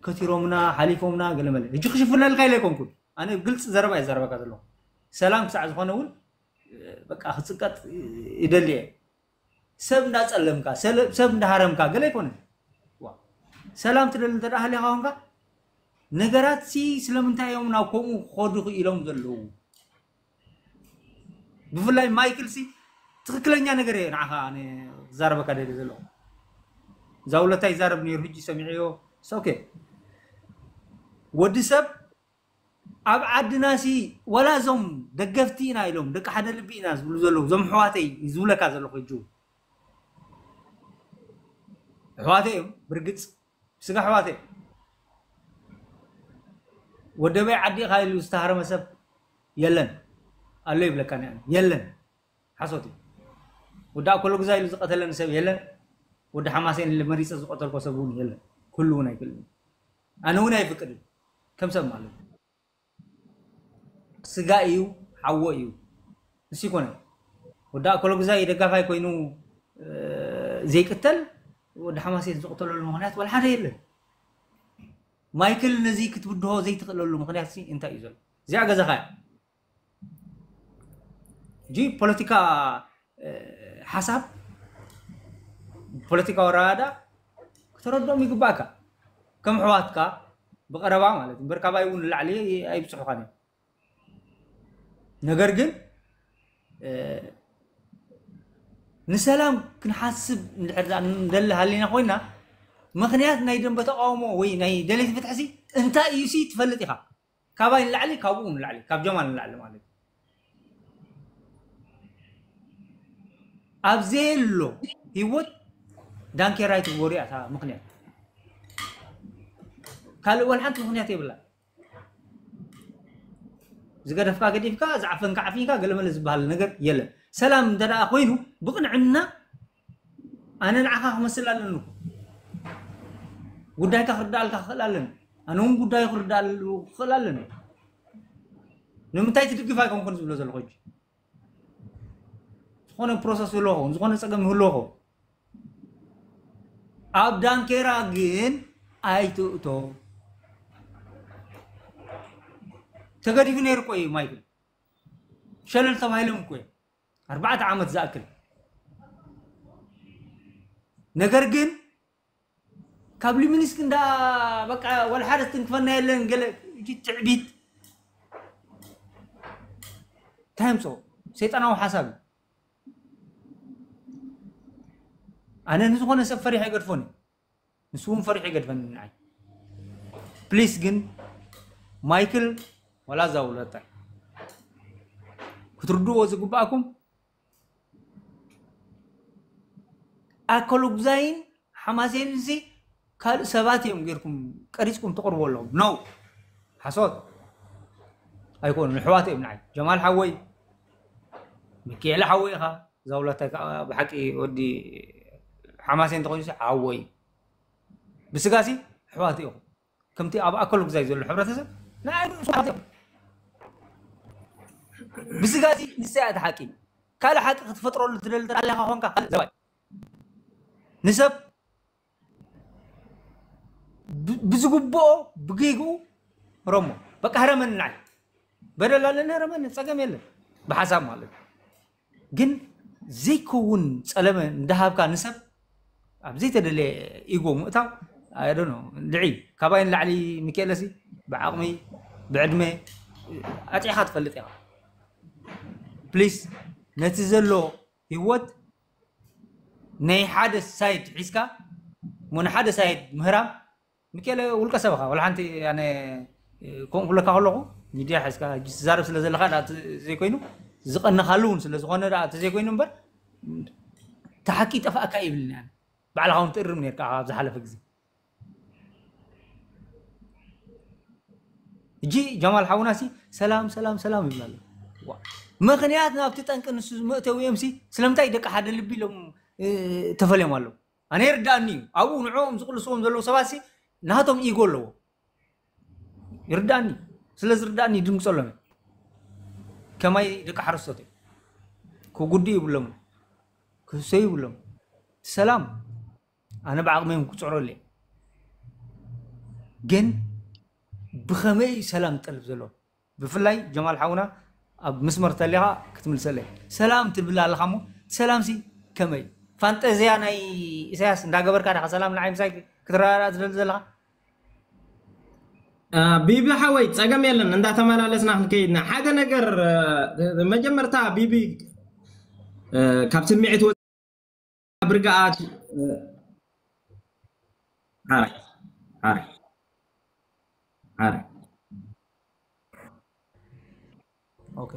ከቲሮምና ሓሊፎምና ገለመለ። ሕጂ ክሽፍነልካ ኢለ ኣይኮንኩን፣ ኣነ ግልፂ ዘረባ እየ ዘረበካ ዘለኹ። ሰላም ክሳዕ ዝኾነ እውን በቃ ክፅቀጥ ይደሊ እየ። ሰብ እንዳፀለምካ ሰለ- ሰብ እንዳሃረምካ ገለ ኣይኮነን። ዋ፣ ሰላም ትደሊ እንተ ደኣ ሃሊኻ ኾንካ፣ ነገራት ሲ ስለምንታይ እዮም ናብ ከምኡ ክኸዱ ክኢሎም ዘለዉ? ብፍላይ ማይክል ሲ ትኽክለኛ ነገር እየ ንዓኻ ኣነ ክዛረበካ ደሊ ዘለኹ። እዛ ውለታ ይዛረብ ነይሩ፣ ሕጂ ሰሚዐዮ። ኦኬ፣ ወዲ ሰብ ኣብ ዓድና ሲ፣ ወላ እዞም ደገፍቲ ኢና ኢሎም፣ ደቂ ሓደ ልቢ ኢና ዝብሉ ዘለዉ፣ እዞም ኣሕዋተይ ዝብለካ ዘለኹ ሕጂ እውን ኣሕዋተይ እዮም። ብርግፅ ስጋ ኣሕዋተይ እዮም። ወደበይ ዓዲ ኢኻ ኢሉ ዝተሃረመ ሰብ የለን ኣሎ ይብለካ። ኒ የለን፣ ሓሶት እዩ። ወዲ ኣኮሎ ግዛ ኢሉ ዝቐተለኒ ሰብ የለን። ወዲ ሓማሴን ኢለ መሪፀ ዝቐተልኮ ሰብ እውን የለን። ኩሉ እውን ኣይክእልን፣ ኣነ እውን ኣይፍቅድን። ከም ሰብ ማለት እዩ። ስጋ እዩ፣ ሓዎ እዩ። ንሱ ይኮነ ወዲ ኣኮሎ ግዛይ ደጋፋይ ኮይኑ ዘይቅተል፣ ወዲ ሓማሴን ዝቅተለሉ ምክንያት ወላ ሓደ የለን። ማይክል ነዚ ክትብድሆ ዘይትኽእለሉ ምክንያት ሲ እንታይ እዩ ዘሎ? እዚኣ ገዛኻ እያ። እጂ ፖለቲካ ሓሳብ፣ ፖለቲካዊ ኣረዳዳ ክተረድኦም ይግባእካ። ከም ኣሕዋትካ ብቐረባ ማለት እዩ። እምበር ካባይ እውን ንላዕሊ ኣይብፅሑኻን እዮም። ነገር ግን ንሰላም ክንሓስብ እንድሕር ደኣ ንደሊ ሃሊና ኮይና፣ ምክንያት ናይ ደንበ ተቃውሞ ወይ ናይ ደለይቲ ፍትሕሲ እንታይ እዩ ሲ ትፈልጥ ኢኻ። ካባይ ንላዕሊ፣ ካብኡ ንላዕሊ፣ ካብ ጀማል ንላዕሊ ማለት እዩ። ኣብ ዘየሎ ህይወት ዳንኬራ ይትግበሩ እያ እታ ምክንያት። ካልእ ወላ ሓንቲ ምክንያት የብላ። ዝገደፍካ ገዲፍካ፣ ዝዓፈንካ ዓፊንካ፣ ገለመለ ዝበሃል ነገር የለን። ሰላም እንተ ደኣ ኮይኑ ብቕንዕና ኣነ ንዓኻ ክመስል ኣለኒ እኮ። ጉዳይካ ክርዳኣልካ ክኽእል ኣለኒ። ኣነ እውን ጉዳዩ ክርዳኣሉ ክኽእል ኣለኒ። ንምንታይ ትድግፍ ኣይኮንኩን ዝብሎ ዘለኹ ሕጂ። ዝኾነ ፕሮሰስ ይህልዎ ኸውን፣ ዝኾነ ጸገም ይህልዎ ኸውን። ኣብ ዳንኬራ ግን ኣይትእቶ። ተገዲፉ ነይሩ እኮ እዩ ማይክል። ሸለል ተባሂሎም እኮ እዮም። ኣርባዕተ ዓመት ዝኣክል። ነገር ግን ካብ ሊሚኒስክ እንዳ በቃ ወላ ሓደ ትንክፈና የለን ገለ እጂ ትዕቢት። እንታይ ምጾ ሰይጣናዊ ሓሳብ እዩ። ኣነ ንዝኾነ ሰብ ፈሪሐ ይገድፎን እዩ። ንሱ እውን ፈሪሑ ይገድፈኒ ንዓይ። ፕሊስ ግን ማይክል ወላ እዛ ውለታ ክትርድእዎ ዝግባእኩም ኣከለጉዛይን ሓማሴንን ሲ ካልእ ሰባት እዮም ጌርኩም ቀሪጽኩም ትቕርቡ ኣለኹም። ኖ፣ ሓሶት ኣይኮኑን። ኣሕዋት እዮም ንዓይ። ጀማል ሓወይ፣ ሚካኤል ሓወይ ኢኻ። እዛ ውላታይ ከዓ ብሓቂ ወዲ ሓማሴን እንተኾይኑ ሲ ሓወይ። ብስጋ ሲ ኣሕዋት ኢኹም። ከምቲ ኣብ ኣከለጉዛይ ዘሎ ሕብረተሰብ ንዓይ ርእሱ ኣሕዋት እዮም። ብስጋ ሲ ንሳ እያ እቲ ሓቂ። ካልእ ሓቂ ክትፈጥረሉ ትደሊ እንተ ኣለኻ ኾንካ ካልእ ዘባይ። ንሰብ ብ- ብዝግብኦ ብጌግኡ ረሞ። በቃ ህረመኒ ንዓይ። በደል ኣለኒ ህረመኒ፣ ጸገም የለን። ብሓሳብ ማለት እዩ። ግን ዘይከውን ጸለመ እንዳሃብካ ንሰብ ኣብ ዘይተደለየ ኢጎ ምእታው፣ I don't know፣ ልዒ። ካባይ ንላዕሊ ሚካኤለሲ ብዓቕሚ ብዕድመ ኣጢዕኻ ትፈልጥ ኢኻ። ፕሊስ ነቲ ዘሎ ህይወት ናይ ሓደ ሳይድ ሒዝካ እሞ ንሓደ ሳይድ ምህራም፣ ሚካኤለ ውልቀ ሰብ ኢኻ። ወላ ሓንቲ ኣነ ከምኡ ክብለካ ከለኹ ሚድያ ሒዝካ ሕጂ ትዛረብ ስለ ዘለኻ ደኣ እቲ ዘይኮይኑ ዝቐነኻሉ እውን ስለ ዝኾነ ደኣ እቲ ዘይኮይኑ እምበር ሓቂ ይጠፋእካ ይብልኒ ኣነ። ባዕልኻ እውን ትእርም ነርካ ኣብ ዝሓለፈ ግዜ። እጂ ጀማል ሓውናሲ ሰላም ሰላም ሰላም ይብላ ኣሎ። ዋ። ምኽንያት ናብቲ ጠንቂ ንሱ መእተዊ እዮም ሲ ስለምንታይ ደቂ ሓደ ልቢ ኢሎም ተፈልዮም ኣለዉ? ኣነ ይርዳእኒ እዩ። ኣብኡ ንዕኦም ዝቕልስዎም ዘለዉ ሰባትሲ ናቶም ኢጎ ኣለዎ። ይርዳእኒ። ስለ ዝርዳእኒ ይድንግጸሎም እየ። ከማይ ደቂ ሓረስቶት እዮም። ክጉድኡ ይብሎም። ክህሰዩ ይብሎም። ሰላም ኣነ ብዓቕመይ ክጽዕሮ እየ። ግን ብኸመይ ሰላም ጠልብ ዘሎ? ብፍላይ ጀማል ሓውና ኣብ ምስመር ተሊኻ ክትምልሰለይ። ሰላም ትብል ኣለኻ እሞ ሰላምሲ ከመይ? ፋንጠዝያ ናይ ኢሳያስ እንዳገበርካ ዲኻ ሰላም ንዓይ ምሳይ ክትረዳዳእ ትደሊ ዘለኻ? ቢቢ ሓወይ ጸገም የለን እንዳተመላለስና ክንከይድና ሓደ ነገር መጀመርታ ቢቢ ካብ ስምዒት ብርግኣት ሓራይ ሓራይ ሓራይ ኦኬ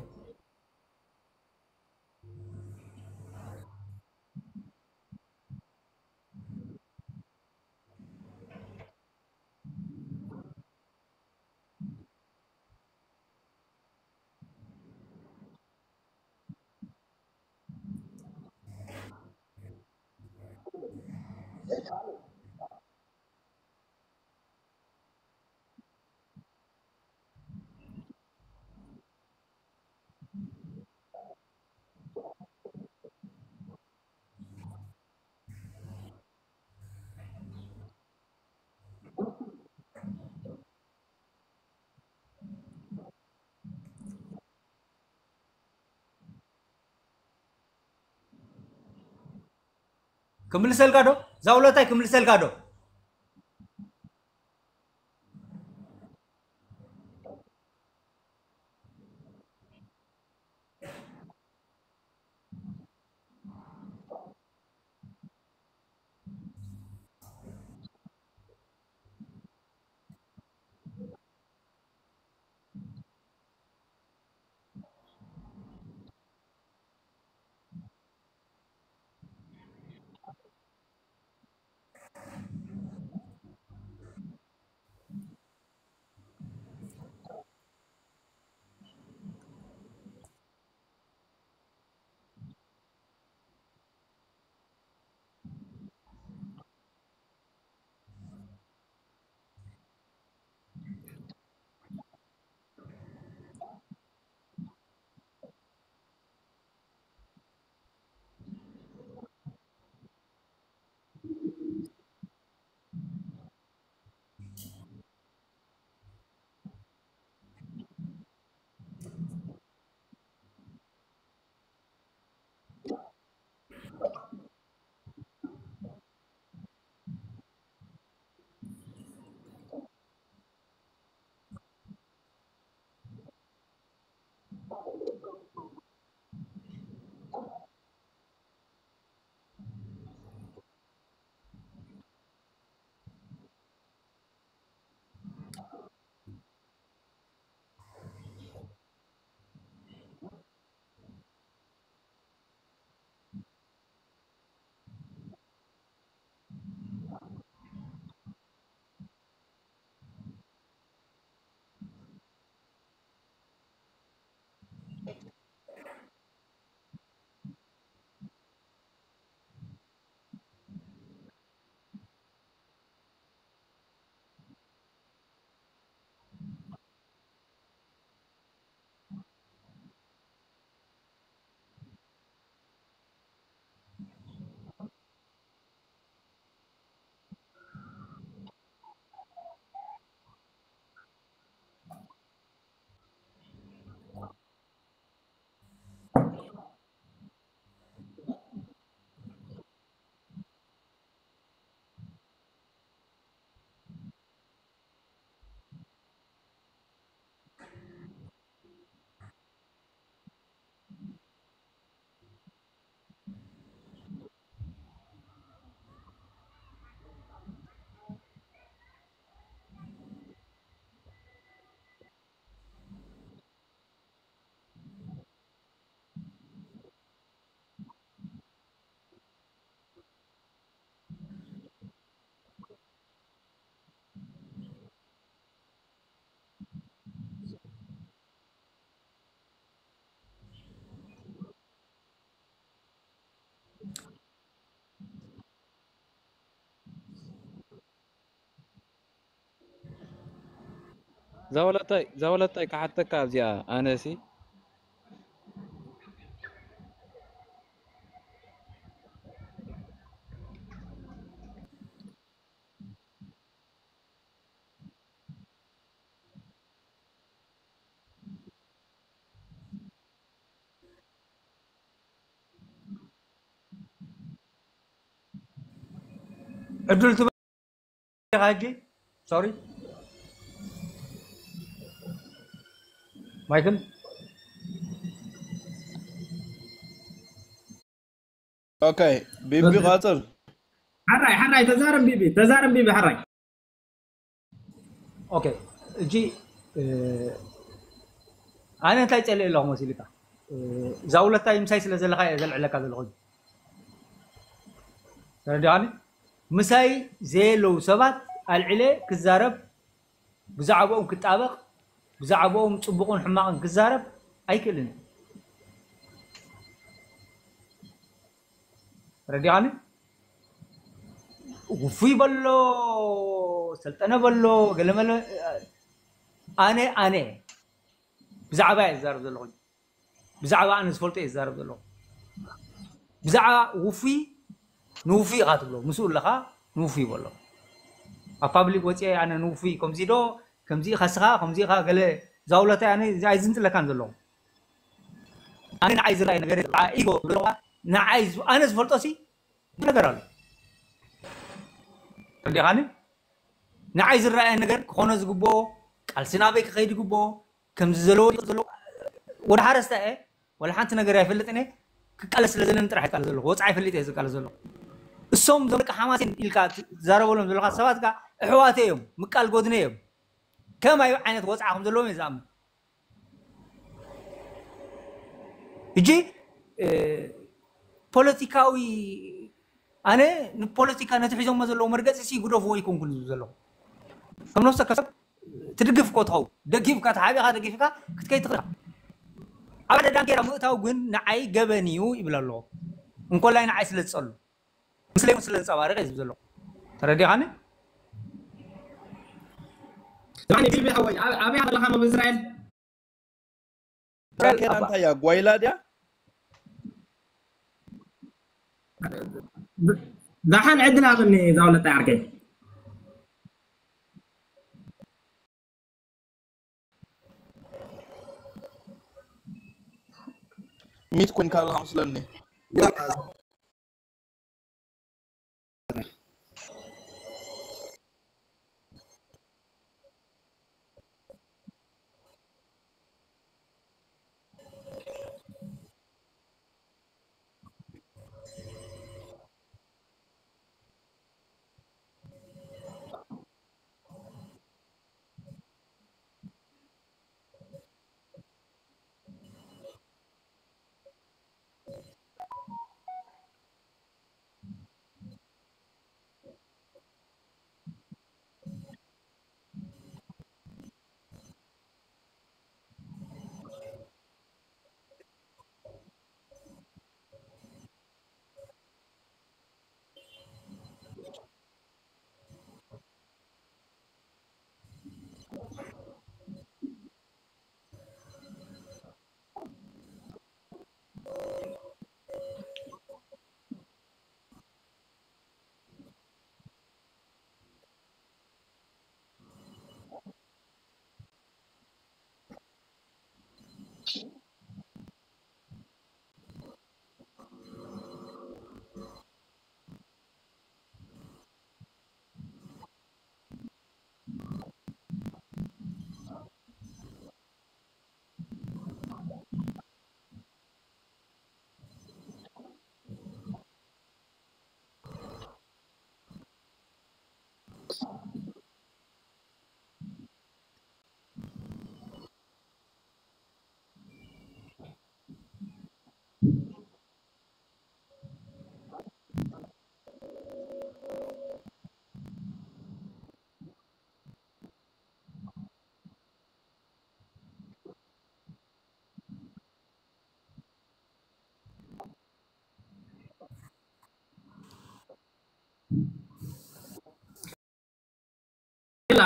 ክምልሰልካ ዶ? ዛውለታይ ክምልሰልካ ዶ? ዛወለታይ ዛወለታይ ክሓተካ ኣብዚኣ ኣነሲ ዕድል ትበ- ሕጂ ሶሪ ማይክል ኦኬ ቢቢ ቃጽል ሓራይ ሓራይ ተዛረብ ቢቢ ተዛረብ ቢቢ ሓራይ ኦኬ እጂ ኣነ እንታይ ጸልእ ኣለኹ መሲልካ ዛውለታይ ምሳይ ስለ ዘለካ እየ ዘልዕለካ ዘለኹ ተረዲኻኒ ምሳይ ዘየለዉ ሰባት ኣልዕለ ክዛረብ ብዛዕባኦም ክጣበቕ ብዛዕባኦም ፅቡቕን ሕማቕን ክዛረብ ኣይክእልን ተረዲኻኒ ውፉይ በሎ ሰልጠነ በሎ ገለመለ ኣነ ኣነ ብዛዕባ እየ ዝዛረብ ዘለኹ ብዛዕባ ኣነ ዝፈልጦ እየ ዝዛረብ ዘለኹ ብዛዕባ ውፉይ ንውፉይ ኢኻ ትብሎ ምስኡ ኣለኻ ንውፉይ በሎ ኣብ ፓብሊክ ወፂአ ኣነ ንውፉይ ከምዚ ዶ ከምዚ ኢኻ ስኻ ከምዚ ኢኻ ገለ ዛውለታይ ኣነ ኣይዝንፅለካን ዘለኹ ኣነ ንዓይ ዝረኣይ ነገር ኢጎ ንዓይ ኣነ ዝፈልጦ ሲ ነገር ኣሎ እንዲኻኒ ንዓይ ዝረኣየ ነገር ክኾነ ዝግብኦ ቃልሲ ናበይ ክኸይድ ይግብኦ ከምዚ ዘለዎ ዘሎ ወደ ሓረስታ እየ ወላ ሓንቲ ነገር ኣይፈልጥን እየ ክቃለስ ስለ ዘለኒ ጥራሕ ይቃለስ ዘለኹ ወፃ ይፈልጥ እየ ዝቃለስ ዘለኹ እሶም ዞም ደቂ ሓማሴን ኢልካ ትዛረበሎም ዘለካ ሰባት ካ ኣሕዋተ እዮም ምቃል ጎድነ እዮም ከማይ ዓይነት ወፅዓ ከም ዘለዎም እየ ዝኣምን ሕጂ ፖለቲካዊ ኣነ ንፖለቲካ ነቲ ሒዞሞ ዘለዉ መርገፂ ሲ ጉደፍዎ ይኮንኩን ዝብል ዘለኹ ከም ነፍሰ ከሰብ ትድግፍ እኮ ትኸውን ደጊፍካ ተሓቢኻ ደጊፍካ ክትከይ ትኽእል ኣብ ሓደ ዳንጌራ ምእታው ግን ንዓይ ገበን እዩ ይብል ኣለኹ እንኮላይ ንዓይ ስለ ዝፀሉ ምስለይ ስለ ዘንፀባርቕ እየ ዝብል ዘለኹ ተረዲኻኒ ዳኒ ቢቢ ሓወይ ኣበይ ኣለኻ ኣብ እስራኤል ራኬና እንታይ እያ ጓይላ ድያ ዳሓን ዕድል ሃበኒ ዛውለጣ ዓርከይ ሚት ኮይንካ ኣለኻ መስለኒ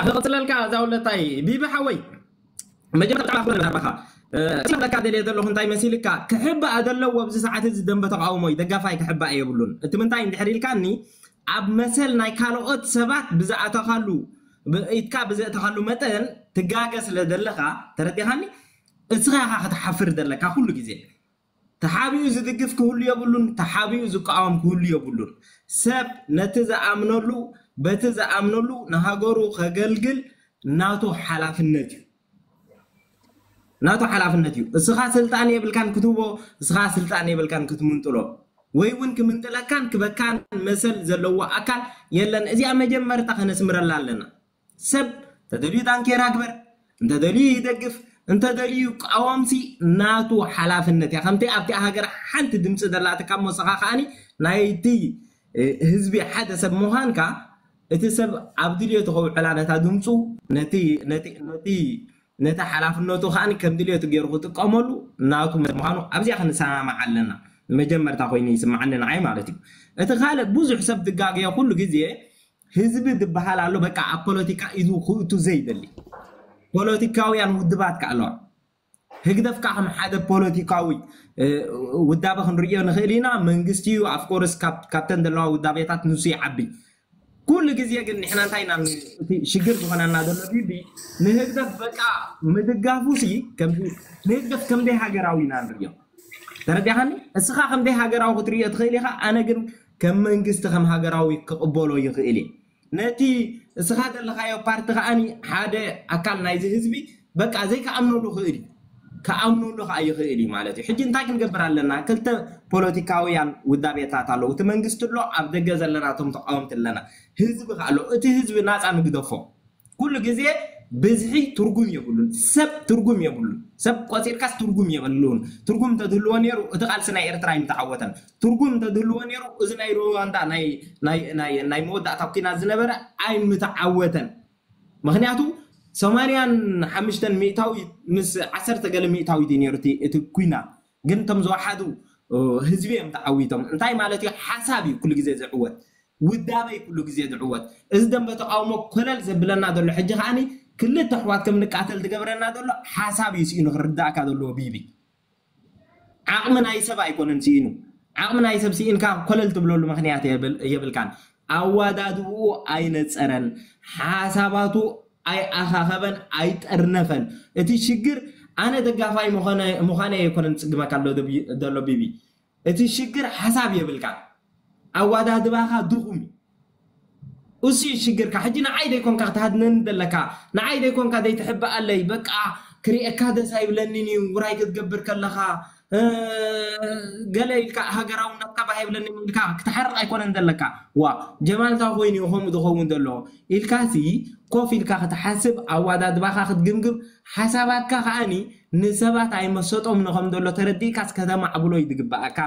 ክቕፅለልካ እዛ ውለታይ ቢቢ ሓወይ መጀመርታ ብጣዕሚ ኣኽብር ናባኻ። እ፣ እቲ ክብለካ ደልየ ዘለኹ እንታይ መሲልካ፣ ክሕባእ ዘለዎ ኣብዚ ሰዓት እዚ ደንበ ተቃውሞ እዩ፣ ደጋፋይ ክሕባእ የብሉን። እቲ ምንታይ እንድሕር ኢልካኒ፣ ኣብ መሰል ናይ ካልኦት ሰባት ብዝኣተኻሉ፣ ብ-፣ ኢድካ ብዘእተኻሉ መጠን ትጋገ ስለ ዘለኻ፣ ተረዲኻኒ? እስኻ ኢኻ ክትሓፍር ዘለካ ኩሉ ግዜ። ተሓቢኡ ዝድግፍ ክህሉ የብሉን፣ ተሓቢኡ ዝቃወም ክህሉ የብሉን። ሰብ ነቲ ዝኣምነሉ፣ በቲ ዝኣምነሉ ንሃገሩ ከገልግል ናቱ ሓላፍነት እዩ። ናቱ ሓላፍነት እዩ። እስኻ ስልጣን የብልካን ክትህቦ፣ እስኻ ስልጣን የብልካን ክትምንጥሎ፣ ወይ እውን ክምንጥለካን ክበካን መሰል ዘለዎ ኣካል የለን። እዚኣ መጀመርታ ከነስምረላ ኣለና። ሰብ እንተደልዩ ዳንኬራ ግበር፣ እንተደልዩ ይደግፍ፣ እንተደልዩ ይቃወምሲ ናቱ ሓላፍነት እያ። ከምቲ ኣብቲ ሃገር ሓንቲ ድምፂ ዘላትካ እሞ፣ ንስኻ ከኣኒ ናይቲ፣ እ፣ ህዝቢ ሓደ ሰብ ምዃንካ፣ እቲ ሰብ ኣብ ድልየቱ ከውዕላ ነታ ድምፁ፣ ነቲ፣ ነቲ፣ ነቲ፣ ነቲ ሓላፍነቱ ከኣኒ ከም ድልየቱ ገይሩ ክጥቀመሉ ናቱ ምዃኑ ኣብዚኣ ክንሰማማዕ ኣለና። መጀመርታ ኮይኑ ይስምዓኒ ንዓይ ማለት እዩ። እቲ ካልእ ብዙሕ ሰብ ዝጋገዮ ኩሉ ግዜ ህዝቢ ዝበሃል ኣሎ፣ በቃ ኣብ ፖለቲካ ኢዱ ክእቱ ዘይደሊ ፖለቲካውያን ውድባት ከ ኣለዋ። ህግደፍ ከ ከም ሓደ ፖለቲካዊ፣ እ፣ ውዳበ ክንርእዮ ንኽእል ኢና። መንግስቲ እዩ፣ ኣፍኮርስ፣ ካብ፣ ካብተን ዘለዋ ውዳቤታት ንሱ ይዓቢ። ኩሉ ግዜ ግን ንሕና እንታይ ኢና፣ እቲ ሽግር ዝኾነና ዘሎ ቢቢ ንህግደፍ በቃ ምድጋፉ ሲ ከምዚ ንህግደፍ ከም ደይ ሃገራዊ ኢና ንርእዮ። ተረዲኻኒ? እስኻ ከም ደይ ሃገራዊ ክትርእዮ ትኽእል ኢኻ፣ ኣነ ግን ከም መንግስቲ ከም ሃገራዊ ክቕበሎ ይኽእል እየ። ነቲ እስኻ ዘለኻዮ ፓርቲ ከኣኒ ሓደ ኣካል ናይዚ ህዝቢ በቃ ዘይከኣምነሉ ክእል እዩ። ከኣምነሉ ከኣ ይኽእል እዩ ማለት እዩ። ሕጂ እንታይ ክንገብር ኣለና? ክልተ ፖለቲካውያን ውዳቤታት ኣለዉ። እቲ መንግስቲ ኣሎ፣ ኣብ ደገ ዘለና እቶም ተቃወምቲ ኣለና። ህዝቢ ከኣ ኣሎ። እቲ ህዝቢ ናጻ ንግደፎ። ኩሉ ግዜ ብዝሒ ትርጉም የብሉን። ሰብ ትርጉም የብሉን። ሰብ ቆጺርካስ ትርጉም የብሉን። ትርጉም እንተዝህልዎ ነይሩ፣ እቲ ቃልሲ ናይ ኤርትራ ኣይምተዓወተን። ትርጉም እንተዝህልዎ ነይሩ፣ እዚ ናይ ሩዋንዳ ናይ፣ ናይ፣ ናይ፣ ናይ መወዳእታ ኲናት ዝነበረ ኣይምተዓወተን። ምኽንያቱ ሰማንያን ሓሙሽተን ሚእታዊት ምስ ዓሰርተ ገለ ሚእታዊት እዩ ነይሩ እቲ፣ እቲ ኲናት። ግን እቶም ዝወሓዱ፣ እ፣ ህዝቢ እዮም ተዓዊቶም። እንታይ ማለት እዩ? ሓሳብ እዩ ኩሉ ግዜ ዝዕወት። ውዳበ እዩ ኩሉ ግዜ ዝዕወት። እዚ ደንበ ተቃውሞ ኮለል ዘብለና ዘሎ ሕጂ ከኣኒ ክልተ ኣሕዋት ከም ንቃተል ዝገብረና ዘሎ ሓሳብ እዩ ስኢኑ ክርዳእካ ዘለዎ ቢቢ። ዓቕሚ ናይ ሰብ ኣይኮነን ስኢኑ። ዓቕሚ ናይ ሰብ ስኢንካ ኮለል ትብለሉ ምኽንያት የብል-፣ የብልካን። ኣዋዳድብኡ ኣይነጸረን፣ ሓሳባቱ ኣይኣኻኸበን፣ ኣይጠርነፈን። እቲ ሽግር ኣነ ደጋፋይ ምዃነ-፣ ምዃነ ኣይኮነን ዝጽግመካ ኣሎ ደቢ-፣ ዘሎ ቢቢ። እቲ ሽግር ሓሳብ የብልካ። ኣዋዳድባኻ ድኹም እዩ። እሱ እዩ ሽግርካ። ሕጂ ንዓይ ደይኮንካ ክትሃድነኒ ዘለካ፣ ንዓይ ደይኮንካ ዘይትሕብኣለይ፣ በቃ ክርእየካ ደስ ኣይብለንን እዩ፣ ውራይ ክትገብር ከለኻ፣ እ፣ ገለ ኢልካ ሃገራውነትካ ባህ ኣይብለንን ኢልካ ክትሓርቕ ኣይኮነን ዘለካ። ዋ፣ ጀማል እንታይ ኮይኑ እዩ ከምኡ ዝኸውን ዘሎ ኢልካሲ ኮፍ ኢልካ ክትሓስብ፣ ኣዋዳድባኻ ክትግምግም፣ ሓሳባትካ ከኣኒ ንሰባት ኣይመሰጦምን ከም ዘሎ ተረዲእካስ ከተማዕብሎ እዩ ዝግብኣካ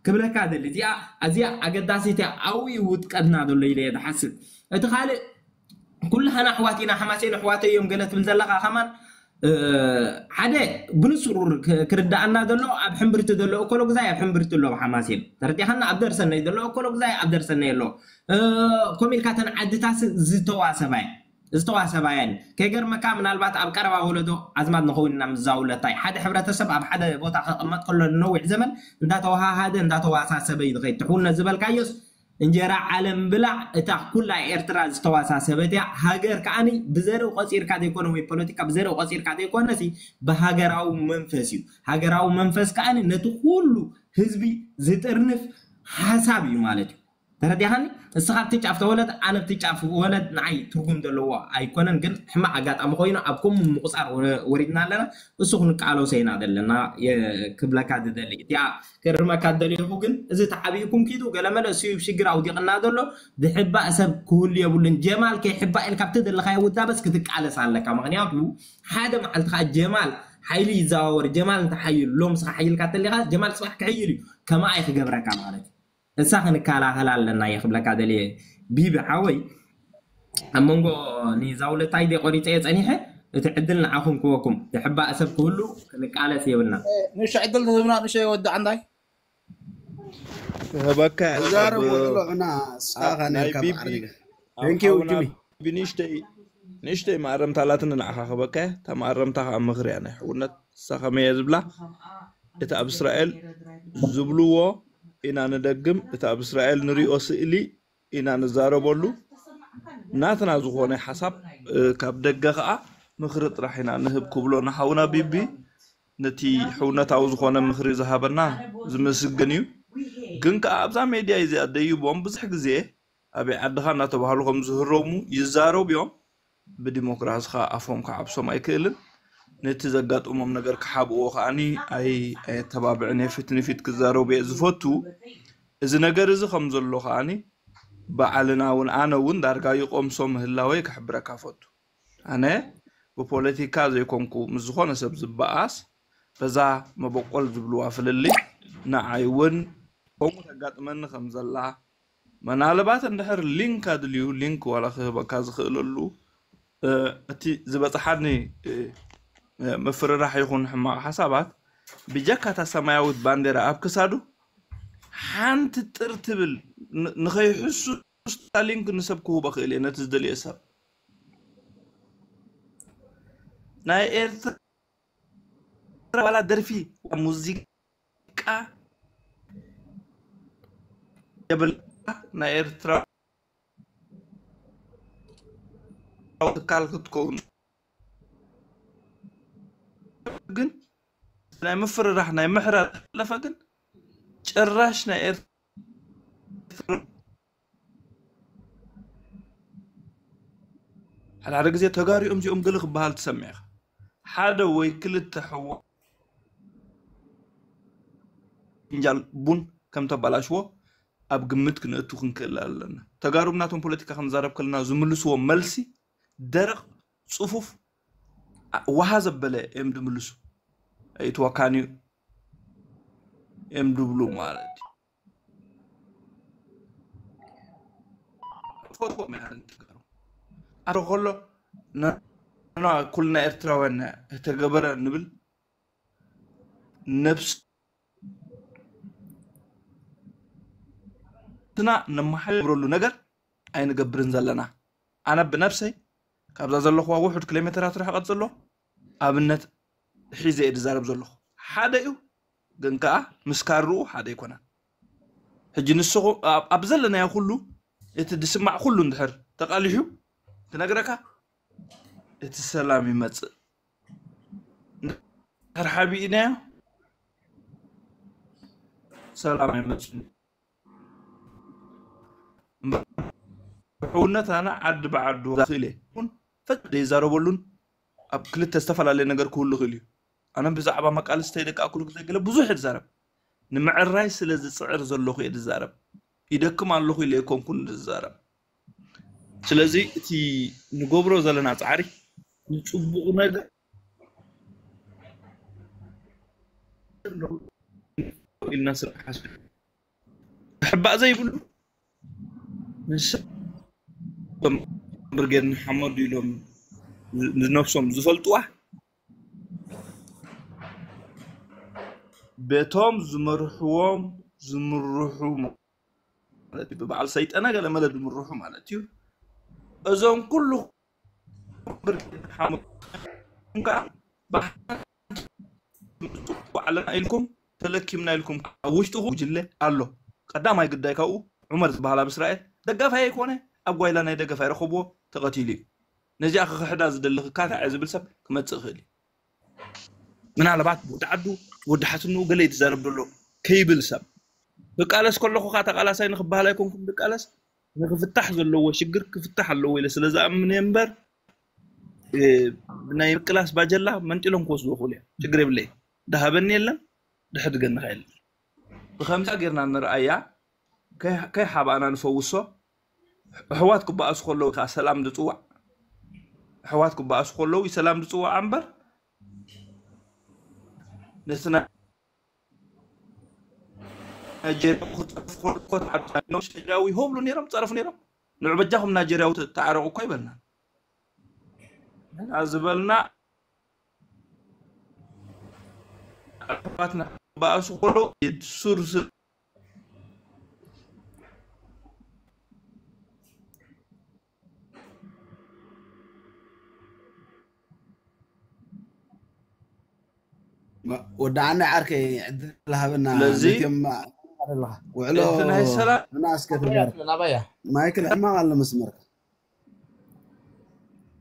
ክብለካ ደሊ። እዚኣ ኣዝያ ኣገዳሲት እያ። ኣብኡ እዩ ውድቀትና ዘሎ ኢለ እየ ዝሓስብ። እቲ ካልእ ኩልሃና ኣሕዋት ኢና፣ ሓማሴን ኣሕዋተይ እዮም ገለ ትብል ዘለኻ ከማን፣ እ፣ ሓደ ብንጹር ክ-፣ ክርዳኣና ዘሎ ኣብ ሕምብርቲ ዘሎ እኮሎግዛይ ኣብ ሕምብርቲ ኣሎ ሓማሴን። ተረዲኻና? ኣብ ደርሰነይ ዘሎ እኮሎግዛይ ኣብ ደርሰነይ ኣሎ። እ፣ ከምኡ ኢልካ እተን ዓድታት ዝተዋሰባ እየን። ዝተዋሰባ እየን። ከይገርመካ ምናልባት ኣብ ቀረባ ወለዶ ኣዝማድ ንኸውን ኢና ምስ ዛውለታይ። ሓደ ሕብረተሰብ ኣብ ሓደ ቦታ ክቕመጥ ከሎ ንነዊሕ ዘመን እንዳተዋሃሃደ እንዳተዋሳሰበ እዩ ዝኸይድ። ትሕውነት ዝበልካዮስ እንጀራ ዓለም ብላዕ፣ እታ ኩላ ኤርትራ ዝተዋሳሰበት እያ። ሃገር ከኣኒ ብዘርኢ ቆጺርካ ዘይኮነ ወይ ፖለቲካ ብዘርኢ ቆጺርካ ዘይኮነሲ ብሃገራዊ መንፈስ እዩ። ሃገራዊ መንፈስ ከኣኒ ነቲ ኩሉ ህዝቢ ዝጥርንፍ ሓሳብ እዩ ማለት እዩ። ተረዲኻኒ? እስኻ ኣብቲ ጫፍ ተወለድ፣ ኣነ ኣብቲ ጫፍ ወለድ፣ ንዓይ ትርጉም ዘለዎ ኣይኮነን። ግን ሕማቕ ኣጋጣሚ ኮይኑ ኣብ ከምኡ ምቁጻር ወ-፣ ወሪድና ኣለና። እሱ ክንቃለሶ ኢና ዘለና፣ የ-፣ ክብለካ ዝደሊ። እቲኣ ክርመካ ዝደለኹ ግን፣ እዚ ተዓቢእኩም ኪዱ ገለመለ እሱ እዩ ሽግር ኣውዲቕና ዘሎ። ዝሕባእ ሰብ ክህሉ የብሉን። ጀማል ከይሕባእ ኢልካ ኣብቲ ዘለኻዮ ውዳበስ ክትቃለስ ኣለካ። ምኽንያቱ ሓደ መዓልቲ ኸዓ ጀማል ሓይሊ ይዘዋወር። ጀማል እንተሓይሉ፣ ሎም ስኻ ሓይልካ ተሊኻ፣ ጀማል ጽባሕ ክሕይል እዩ። ከማኣ እዩ ክገብረካ ማለት እዩ። እሳ ክንከላኸል ኣለና እየ ክብለካ ደልየ ቢቢ ሓወይ። ኣብ መንጎ ንዛውለታይ ደይ ቆሪፀ እየ ፀኒሐ። እቲ ዕድል ንዓኹም ክወኩም። ዝሕባእ ሰብ ክህሉ ክንቃለስ የብልና። ንሽ ዕድል ተህብና ንሽ ወዲ ዓንዳይ። ክህበካ እየ። እዛረብ ወሎ እና እስኻ ኣብ ናይ ነርካ ቢቢ ብዓርቢጋ። ኣብ Thank you ሓውና ጅሚ። ብንሽተይ ንእሽተይ መኣረምታ ኣላትኒ ንዓኻ ክበካ እያ። እታ መኣረምታ ከዓ ምኽሪ እያ ናይ ሕውነት። ንሳ ከመይ እያ ዝብላ? እቲ ኣብ እስራኤል ዝብልዎ ኢና ንደግም፣ እቲ ኣብ እስራኤል ንሪኦ ስእሊ ኢና ንዛረበሉ። ናትና ዝኾነ ሓሳብ፣ እ፣ ካብ ደገ ከዓ ምኽሪ ጥራሕ ኢና ንህብ ክብሎ ንሓውና ቢቢ። ነቲ ሕውነታዊ ዝኾነ ምኽሪ ዝሃበና ዝምስግን እዩ። ግን ከዓ ኣብዛ ሜድያ እዚኣ ደይቦም ብዙሕ ግዜ ኣበይ ዓድኻ እናተባህሉ ከም ዝህረሙ ይዛረቡ እዮም። ብዲሞክራሲ ከዓ ኣፎም ክዓብሶም ኣይክእልን። ነቲ ዘጋጥሞም ነገር ክሓብእዎ ከዓኒ ኣይ-፣ ኣየተባብዕን እየ። ፊት ንፊት ክዛረቡ እየ ዝፈቱ። እዚ ነገር እዚ ከም ዘሎ ከዓኒ በዓልና እውን ኣነ እውን ዳርጋ ይቆምሶ ምህላወይ ክሕብረካ ፈቱ። ኣነ ብፖለቲካ ዘይኮንኩ ምስ ዝኾነ ሰብ ዝበኣስ በዛ መበቆል ዝብልዋ ፍልልይ ንዓይ እውን ከምኡ ተጋጥመኒ ከም ዘላ፣ መናልባት እንድሕር ሊንክ ኣድልዩ ሊንክ ዋላ ክህበካ ዝኽእለሉ፣ እ፣ እቲ ዝበፅሓኒ፣ እ፣ እ፣ ምፍርራሕ ይኹን ሕማቕ ሓሳባት ብጀካ እታ ሰማያዊት ባንዴራ ኣብ ክሳዱ ሓንቲ ጥር ትብል ን-፣ ንኸይሕሱ ስታሊንክ ንሰብ ክህቦ ክእል እየ፣ ነቲ ዝደልዮ ሰብ። ናይ ኤርትራ ዋላ ደርፊ፣ ሙዚቃ የብላ። ናይ ኤርትራ ትካል ክትከውን ግን ናይ ምፍርራሕ ናይ ምሕራር ለፈ ግን ጭራሽ ናይ ኤርትራ ሓደ ሓደ ግዜ ተጋሪኦም እዚኦም ገለ ክበሃል ትሰምዕ ኢኻ። ሓደ ወይ ክልተ ሕዋ ፍንጃል ቡን ከም ተባላሽዎ ኣብ ግምት ክንእቱ ክንክእል ኣለና። ተጋሩ ናቶም ፖለቲካ ክንዛረብ ከለና ዝምልስዎ መልሲ ደረቕ፣ ጽፉፍ፣ አ-፣ ዋሃ ዘበለ እዮም ድምልሱ። ኣይትወካንዩ እዮም ድብሉ ማለት እዩ። ፈትዎም ኢና ንትግርኛ። ኣረ ከሎ ና-፣ ና-፣ ኩልና ኤርትራውያን እተገበረ ንብል ነብስና ነመሓድረሉ ነገር ኣይንገብርን ዘለና። ኣነ ብነብሰይ ካብዛ ዘለኹዋ ውሑድ ኪሎ ሜትራት ርሕቐት ዘሎ ኣብነት ሒዘ እየ ዝዛረብ ዘለኹ። ሓደ እዩ፣ ግን ከኣ ምስ ካርኡ ሓደ ኣይኮነን። ሕጂ ንስኹም ኣብ፣ ኣብ ዘለናዮ ኩሉ እቲ ዝስማዕ ኩሉ እንድሕር ተቓሊሑ ክነግረካ፣ እቲ ሰላም ይመጽእ። እንድሕር ሓቢእናዮ ሰላም ኣይመጽእን። እምበር ሕውነት ኣነ ዓዲ ብዓዱ ክእል እየ። ይኹን ፈጽ ዘይዛረበሉን ኣብ ክልተ ዝተፈላለየ ነገር ክህሉ ይኽእል እዩ። ኣነ ብዛዕባ መቃልስተይ ደቂ ኣኩሉ ግዜ ገለ ብዙሕ እየ ዝዛረብ። ንምዕራይ ስለ ዝጽዕር ዘለኹ እየ ዝዛረብ። ይደክም ኣለኹ ኢለ ኣይኮንኩን ዝዛረብ። ስለዚ እቲ ንገብሮ ዘለና ጻዕሪ ንጽቡቕ ነገር ኢልና ስራሕ ሓስብ ክሕባእ ዘይብሉ ንስ-፣ እቶም ብርጌድ ንሓመዱ ኢሎም ዝ-፣ ንነብሶም ዝፈልጥዋ በቶም ዝመርሕዎም ዝምርሑ ማለት እዩ። ብበዓል ሰይጠነ ገለ መለ ዝምርሑ ማለት እዩ። እዞም ኩሉ ብርጌድ ንሓመዱ ከዓ ብሓንቲ ባዕልና ኢልኩም ተለኪምና ኢልኩም ኣብ ውሽጥኹም ጉጅለ ኣሎ። ቀዳማይ ግዳይ ካብኡ ዑመር ዝበሃል ኣብ እስራኤል ደጋፋይ ኣይኮነ፣ ኣብ ጓይላ ናይ ደገፍ ኣይረኸብዎ፣ ተቐቲሉ እዩ። ነዚኣ ክኽሕዳ ዝደሊ ክካታዕ እየ ዝብል ሰብ ክመጽእ ይኽእል እዩ። ምናልባት ወዲ ዓዱ ወዲ ሓትንኡ ገለ እዩ ዝዛረብ ዘሎ ከይብል ሰብ ክቃለስ ከለኹ ከዓ ተቃላሳይ ንክበሃል ኣይኮንኩም ዝቃለስ፣ ንክፍታሕ ዘለዎ ሽግር ክፍታሕ ኣለዎ ኢለ ስለ ዝኣምን እየ እምበር፣ እ፣ ናይ ምቅላስ ባጀላ መንጢሎም ክወስዱ ይኽእሉ እዮም። ችግር የብለይ። ድሃበኒ የለን፣ ድሕድገኒ ከ የለን። ብኸምዚኣ ጌርና ንርኣያ፣ ከይ-፣ ከይሓባእና ንፈውሶ። ኣሕዋት ክበኣሱ ከለዉ ከዓ ሰላም ዝጽዋዕ፣ ኣሕዋት ክበኣሱ ከለዉ እዩ ሰላም ዝጽዋዕ እምበር፣ ነቲ ናይ ናይጀርያ ክጸርፉ ከለዉ እኮ ተዓርቁ ነይሮም፣ ናይጀርያዊ ይሆብሉ ነይሮም፣ ጸረፉ ነይሮም። ንዑ በጃኹም ናይጀርያዊ ተ-፣ ተዓረቁ እኮ ይበልና። እና ዝበልና ኣሕዋትና ክበኣሱ ከለዉ ሱር ስ-፣ ወዲ ዓንዳይ ዓርከይ ዕድል ሃበና። ስለዚ ነቲኦም ኣለኻ ውዕሎ እቲ ናይ ሰላም እና እስከ ተጋር ናባያ ማይክል ሕማቕ ኣሎ መስመርካ።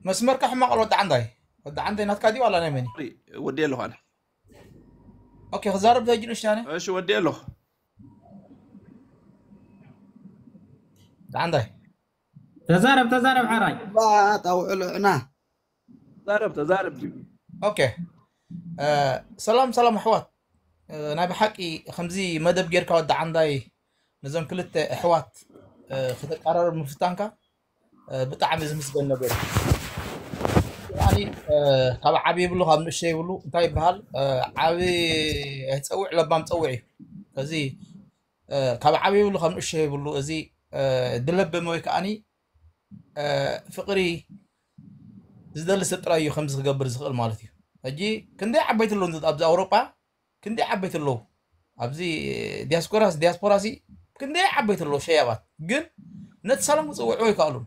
መስመርካ ሕማቕ ኣሎ። ወዲ ዓንዳይ፣ ወዲ ዓንዳይ ናትካ ድዩ ዋላ ናይ መን እዩ? ወዲ ኣለኹ ኣነ። ኦኬ፣ ክዛረብ ተጅ ንሽታነ እሺ ወዲ ኣለኹ። ወዲ ዓንዳይ ተዛረብ ተዛረብ ሓራይ። ባት ኣውዕሎ ዕና ተዛረብ ተዛረብ። ኦኬ። እ፣ ሰላም ሰላም ኣሕዋት። እ፣ ናይ ብሓቂ ከምዚ መደብ ጌርካ ወዲ ዓንዳይ ነዞም ክልተ ኣሕዋት እ፣ ከተቀራረብ ምፍታንካ እ፣ ብጣዕሚ ዝምስገን ነገር እዩ። ኣኒ እ፣ ካብ ዓቢ ይብሉ ካብ ንእሽተይ ይብሉ እንታይ ይበሃል? እ፣ ዓቢ ኣይጸውዕ ለባም ጸውዕ እዩ። ከዚ እ፣ ካብ ዓቢ ይብሉ ካብ ንእሽተይ ይብሉ። እዚ እ፣ ድለበመ ወይ ከዓኒ እ፣ ፍቕሪ ዝደሊ ሰብ ጥራይ እዩ ከምዚ ክገብር ዝኽእል ማለት እዩ። ሕጂ ክንደይ ዓበይቲ ኣለዉ ኣብዚ ኣውሮጳ፣ ክንደይ ዓበይቲ ኣለዉ ኣብዚ ዲያስፖራስ ዲያስፖራሲ፣ ክንደይ ዓበይቲ ኣለዉ ሸያባት፣ ግን ነቲ ሰላም ክፅውዕዎ ኣይከኣሉን።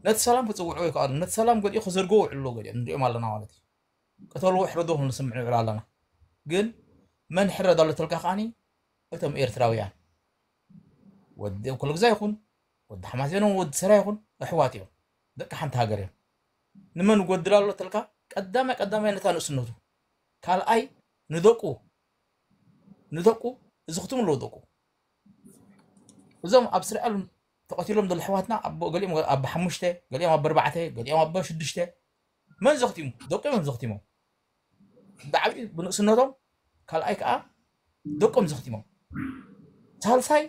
ነቲ ሰላም ክፅውዕዎ ኣይከኣሉን። ነቲ ሰላም ገሊኡ ክዘርግዎ ውዕሉ ኣለዉ ገሊኦም ንሪኦም ኣለና ማለት እዩ። ቅተልዎ ሕረዶ ክንስምዕ ንውዕል ኣለና። ግን መን ሕረድ ኣሎ ተልካ ከዓኒ እቶም ኤርትራውያን ወዲ ኩሉ ግዛ ይኹን ወዲ ሓማሴኖም ወዲ ሰራ ይኹን ኣሕዋት እዮም። ደቂ ሓንቲ ሃገር እዮም። ንመን ጎድል ኣሎ ተልካ ቀዳማይ ቀዳማይ ነታ ንእስነቱ ካልኣይ ንደቁ ንደቁ እዚ ክትም ኣለዎ ደቁ እዞም ኣብ ስርዐል ተቐቲሎም ዘሎ ኣሕዋትና ኣቦ ገሊኦም ኣቦ ሓሙሽተ ገሊኦም ኣቦ ኣርባዕተ ገሊኦም ኣቦ ሽዱሽተ መን ዘኽቲሙ ደቁ እዮም ዘኽቲሞም ብዓብዩ ብንእስነቶም ካልኣይ ከዓ ደቆም ዘኽቲሞም ሳልሳይ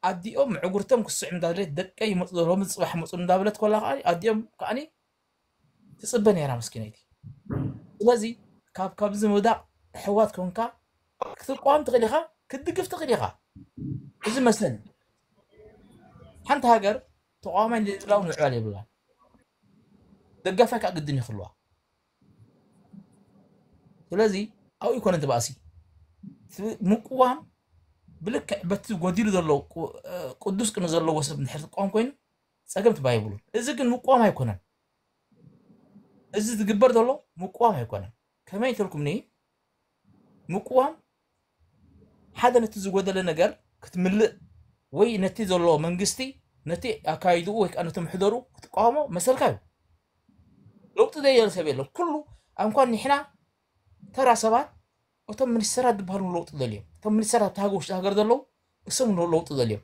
ኣዲኦም ምዕጉርቶም ክስዕም እንዳበለት ደቀይ ይመፁ ሎሚ ፅባሕ መፁ እንዳበለት ኮላ ከዓ ኣዲኦም ከዓኒ ትፅበ ነይራ መስኪነይቲ ስለዚ ካብ ካብዚ ምውዳቅ ሕዋት ኮንካ ክትቋም ትኽእል ኢኻ ክትድግፍ ትኽእል ኢኻ እዚ መሰል ሓንቲ ሃገር ተቋማይ ንድላው ምዕባል የብላን ደጋፋይ ከዓ ግድን ይኽልዋ ስለዚ ኣብኡ ይኮነ ትባእሲ ምቅዋም ብልክዕ በቲ ጎዲሉ ዘሎ ቅዱስ ቅኒ ዘለዎ ሰብ ንድሕር ትቋም ኮይኑ ፀገም ትባይብሉ እዚ ግን ምቅዋም ኣይኮነን እዚ ዝግበር ዘሎ ምቅዋም ኣይኮነን ከመይ ተልኩም ኒ ምቅዋም ሓደ ነቲ ዝጎደለ ነገር ክትምልእ ወይ ነቲ ዘሎ መንግስቲ ነቲ ኣካይድኡ ወይ ከዓ ነቲ ምሕደሩ ክትቃወሞ መሰልካ እዩ ለውጢ ዘየለ ሰብ የለን ኩሉ ኣንኳን ንሕና ተራ ሰባት እቶም ሚኒስተራት ዝበሃሉ ለውጢ ደልዮም እቶም ሚኒስተራት ኣብቲ ሃገር ውሽጢ ሃገር ዘለዉ እሶም ለውጢ ደልዮም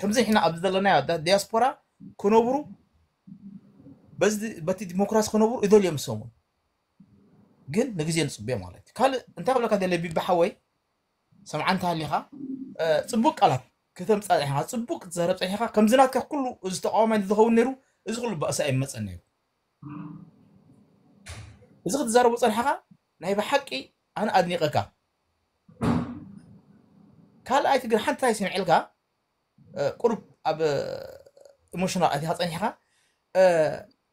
ከምዚ ንሕና ኣብዚ ዘለናዮ ዲያስፖራ ክነብሩ በቲ ዲሞክራሲ ክነብሩ ይደልዮም እሶም ግን ንግዜ ንፅበዮ ማለት እዩ ካልእ እንታይ ክብለካ ደለ ቢቢ ሓወይ ሰምዓ እንተ ሃሊኻ ፅቡቅ ቃላት ክተምፃ ፀኒሕካ ፅቡቅ ክትዛረብ ፀኒሕካ ከምዚ ናትካ ኩሉ እዚ ተቃዋማይ ዝኸውን ነይሩ እዚ ኩሉ ባእሲ ኣይመፀን ነይሩ እዚ ክትዛረቡ ፀንሕኻ ናይ ብሓቂ ኣነ ኣድኒቐካ ካልኣይቲ ግን ሓንቲ ታይ ስምዕልካ ቁሩብ ኣብ ኢሞሽናል ኣቲኻ ፀኒሕኻ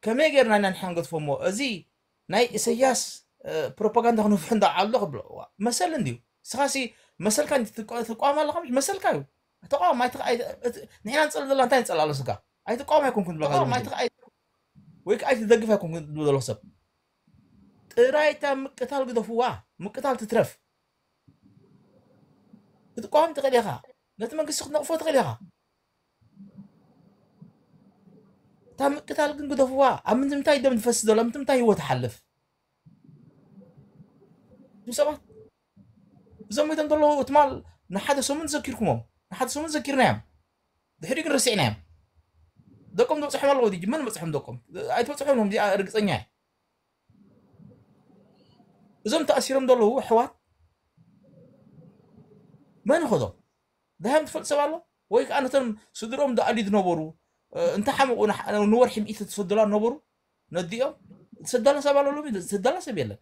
ከመይ ገይርና ኢና ንሕና ንገድፎ እሞ እዚ ናይ ኢሰያስ ፕሮፓጋንዳ ክንፍሑ እንዳዓሉ ክብሎ መሰል እንድዩ ስኻሲ መሰልካ ትቋም ኣለካ መሰልካ እዩ ተቋም ንሕና ንፀል ዘለና እንታይ ንፀል ኣሎ ስጋ ኣይትቋም ኣይኮንኩም ትብለካ ወይ ከዓ ኣይትደግፍ ኣይኮንኩም ትብሎ ዘሎ ሰብ ጥራይ እታ ምቅታል ግደፍዋ ምቅታል ትትረፍ ክትቋም ትኽእል ኢኻ ነቲ መንግስቲ ክትነቕፎ ትኽእል ኢኻ እታ ምቅታል ግን ግደፍዋ ኣብ ምንታይ ደም ዝፈስ ዘሎ ምንታይ ህይወት ይሓልፍ እቶም ሰባት እዞም ሞይቶም ዘለዉ ትማል ንሓደ ሰሙን ዘኪርኩሞም ንሓደ ሰሙን ዘኪርናዮም ድሕሪ ግን ረሲዕናዮም ደቆም ዝበፅሖም ኣለዉ ድጂ መን በፅሖም ደቆም ኣይትበፅሖም እዚኣ ርግፀኛ እየ እዞም ተኣሲሮም ዘለዉ ኣሕዋት መን ኸዶም ድሃዮም ትፈልጥ ሰብ ኣሎ ወይ ከዓ ነቶም ስድሮም ዝኣልዩ ዝነበሩ እንተ ሓመቑ ንወርሒ ሚእቲ ትሰደላ ነበሩ ነዲኦም ትሰደላ ሰብ ኣሎ ሎሚ ትሰደላ ሰብ የለን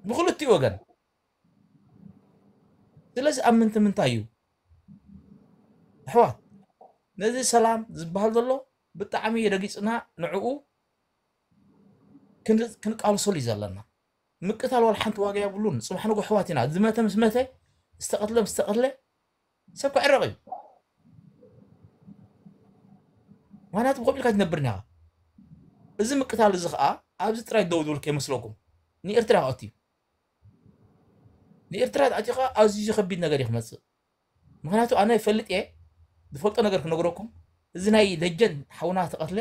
ብክልቲኡ ወገን ስለዚ ኣብ ምንቲ ምንታይ እዩ ኣሕዋት ነዚ ሰላም ዝበሃል ዘሎ ብጣዕሚ ረጊፅና ንዕኡ ክንቃልሰሉ እዩ ዘለና ምቅታል ዋላ ሓንቲ ዋጋ የብሉን ፅባሕ ንጎ ኣሕዋት ኢና ዝመተ ምስ መተ ዝተቐትለ ምስ ተቐትለ ሰብ ክዕረቕ እዩ ምክንያቱ ብከምኡ ኢልካ ትነብር ኒኻ እዚ ምቅታል እዚ ከዓ ኣብዚ ጥራይ ደው ዝብል ከይመስለኩም፣ ንኤርትራ ክኣቱ እዩ። ንኤርትራ ኣቲኻ ኣዝዩ ከቢድ ነገር እዩ ክመጽእ። ምክንያቱ ኣነ ይፈልጥ እየ፣ ዝፈልጦ ነገር ክነግረኩም። እዚ ናይ ደጀን ሓውና ተቐትለ፣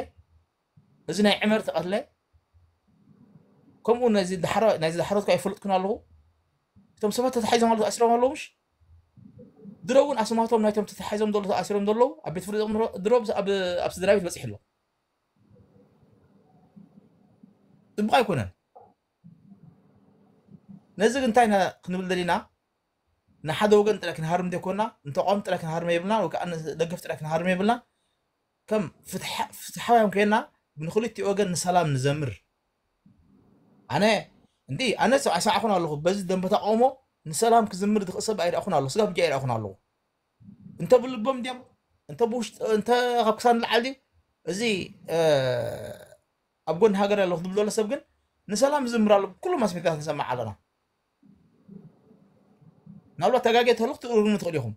እዚ ናይ ዕመር ተቐትለ፣ ከምኡ ነዚ ዳሕሮ ናይዚ ዳሕሮትካ ይፈልጥኩን ኣለኹ። እቶም ሰባት ተታሒዞም ኣለዉ፣ ተኣሲሮም ኣለዉ፣ ምሽ ድሮ እውን ኣስማቶም ናይቶም ተታሒዞም ዘለዉ፣ ተኣሲሮም ዘለዉ ኣብ ቤት ፍርዲ ድሮ ኣብ ኣብ ስድራ ቤት በፂሑ ኣሎ። ፅቡቕ ኣይኮነን። ነዚ ግን እንታይ ኢና ክንብል ደሊና? ንሓደ ወገን ጥራይ ክንሃርም ዘይኮና፣ ንተቃወምቲ ጥራይ ክንሃርም የብልና፣ ወይ ከዓ ንደገፍ ጥራይ ክንሃርም የብልና። ከም ፍትሓ- ፍትሓውያን ኮይና ንክልቲኡ ወገን ንሰላም ንዘምር። ኣነ እንዲ ኣነ ሰ- ኣይሰማዕኩን ኣለኹ። በዚ ደንበ ተቃውሞ ንሰላም ክዝምር ዝኽእል ሰብ ኣይረኣኹን ኣለኹ። ስጋ ብጃ ኣይረኣኹን ኣለኹ። እንተ ብልቦም ድዮም እንተ ብውሽጢ እንተ ካብ ክሳን ንላዕሊ ድዩ? እዚ እ፣ ኣብ ጎኒ ሃገር ኣለኹ ዝብል ዘሎ ሰብ ግን ንሰላም ዝዝምር ኣሎ። ኩሉ ማስሜታት ንሰማዕ ኣለና። ምናልባት ተጋጌ ተህልኩ ትእርሙ ትኽእሉ ኢኹም።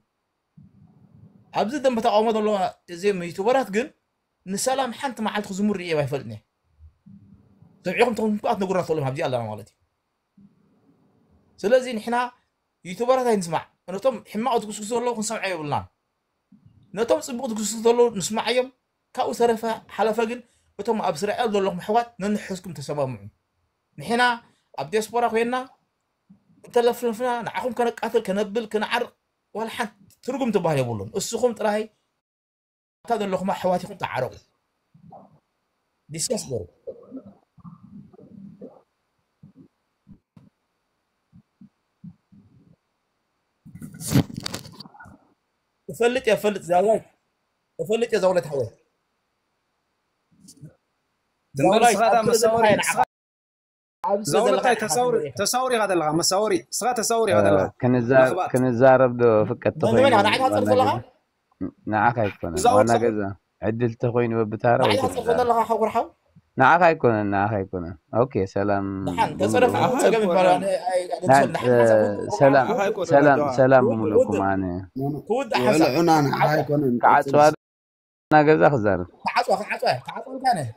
ኣብዚ ደንበ ተቃውሞ ዘለዋ እዚም ዩቱበራት ግን ንሰላም ሓንቲ መዓልቲ ክዝምሩ ርእዮም ኣይፈልጥን እየ። ሰሚዕኹም ተኾንኩም ከዓ ትነግሩና ትኽእሉ ኢኹም። ኣብዚ ኣለና ማለት እዩ። ስለዚ ንሕና ዩቱበራት ኣይንስማዕ። ነቶም ሕማቕ ዝጉስጉሱ ዘለዉ ክንሰምዖ የብልናን። ነቶም ጽቡቕ ዝጉስጉሱ ዘለዉ ንስማዓዮም። ካብኡ ተረፈ ሓለፈ ግን እቶም ኣብ እስራኤል ዘለኹም ኣሕዋት ነንሕዝኩም ተሰማምዑ። ንሕና ኣብ ዲያስፖራ ኮይንና እንተለፍለፍና ንዓኹም ከነቃትል ከነብል ክንዓርቕ ዋላ ሓንቲ ትርጉም ትበሃል የብሉን። እስኹም ጥራይ ኣብታ ዘለኹም ኣሕዋት ኢኹም ተዓረቑ። ዲስከስ ገሩ እፈልጥ እየ እፈልጥ ዛውላይ እፈልጥ እየ ዛውላይ ተሓወ እምበር ንስኻ እታ መሳወሪ ንስኻ ዛውለታይ ተሳውሪ ተሳውሪ ኢኻ ዘለኻ መሳወሪ ንስኻ ተሳውሪ ኢኻ ዘለኻ ክንዛረብ ዶ ፍቀት ተኾይኑ ንዓኻ ኣይኮነን ዋና ገዛ ዕድል ተኾይኑ በብታራ ንዓኻ ኣይኮነን ንዓኻ ኣይኮነን ኦኬ ሰላም ሰላም ሰላም ብምልኩም ኣነ ክዓፅዋ ና ገዛ ክዛረብ ክዓፅዋ ክዓፅዋ ክዓፅዋ እንታይ ነህ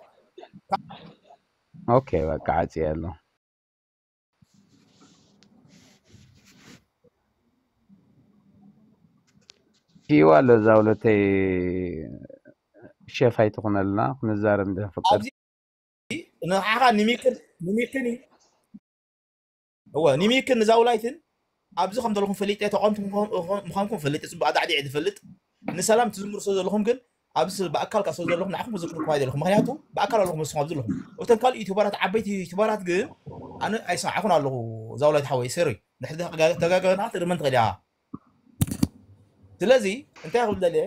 ኦኬ በቃ ዓፂ ኣሎ ሂዋ ኣሎ እዛ ሁለተይ ሸፍ ኣይትኾነልና ክንዛረብ እንድሕር ፍቅር ንዓኻ ንሚክን ንሚክን እዩ እወ ንሚክን ንዛውላይትን ኣብዚ ከም ዘለኹም ፈሊጠ ተቋምቲ ምዃንኩም ፈሊጠ ፅቡቅ ኣዳዕዲዐ ዝፈልጥ ንሰላም ትዝምሩ ስለ ዘለኹም ግን ኣብዚ ብኣካል ካብ ስለ ዘለኹም ንዓኹም ክዝክርኩም ኣይደለኹም ምክንያቱ ብኣካል ኣለኹም ንስኹም ኣብዚ ኣለኹም እቶም ካልእ ዩቱበራት ዓበይቲ ዩቱበራት ግን ኣነ ኣይሰማዕኹን ኣለኹ ዛውላይት ሓወይ ሰሪ ድሕሪ ተጋገና ትርመን ትኽእል ኢኻ ስለዚ እንታይ ክብል ደልየ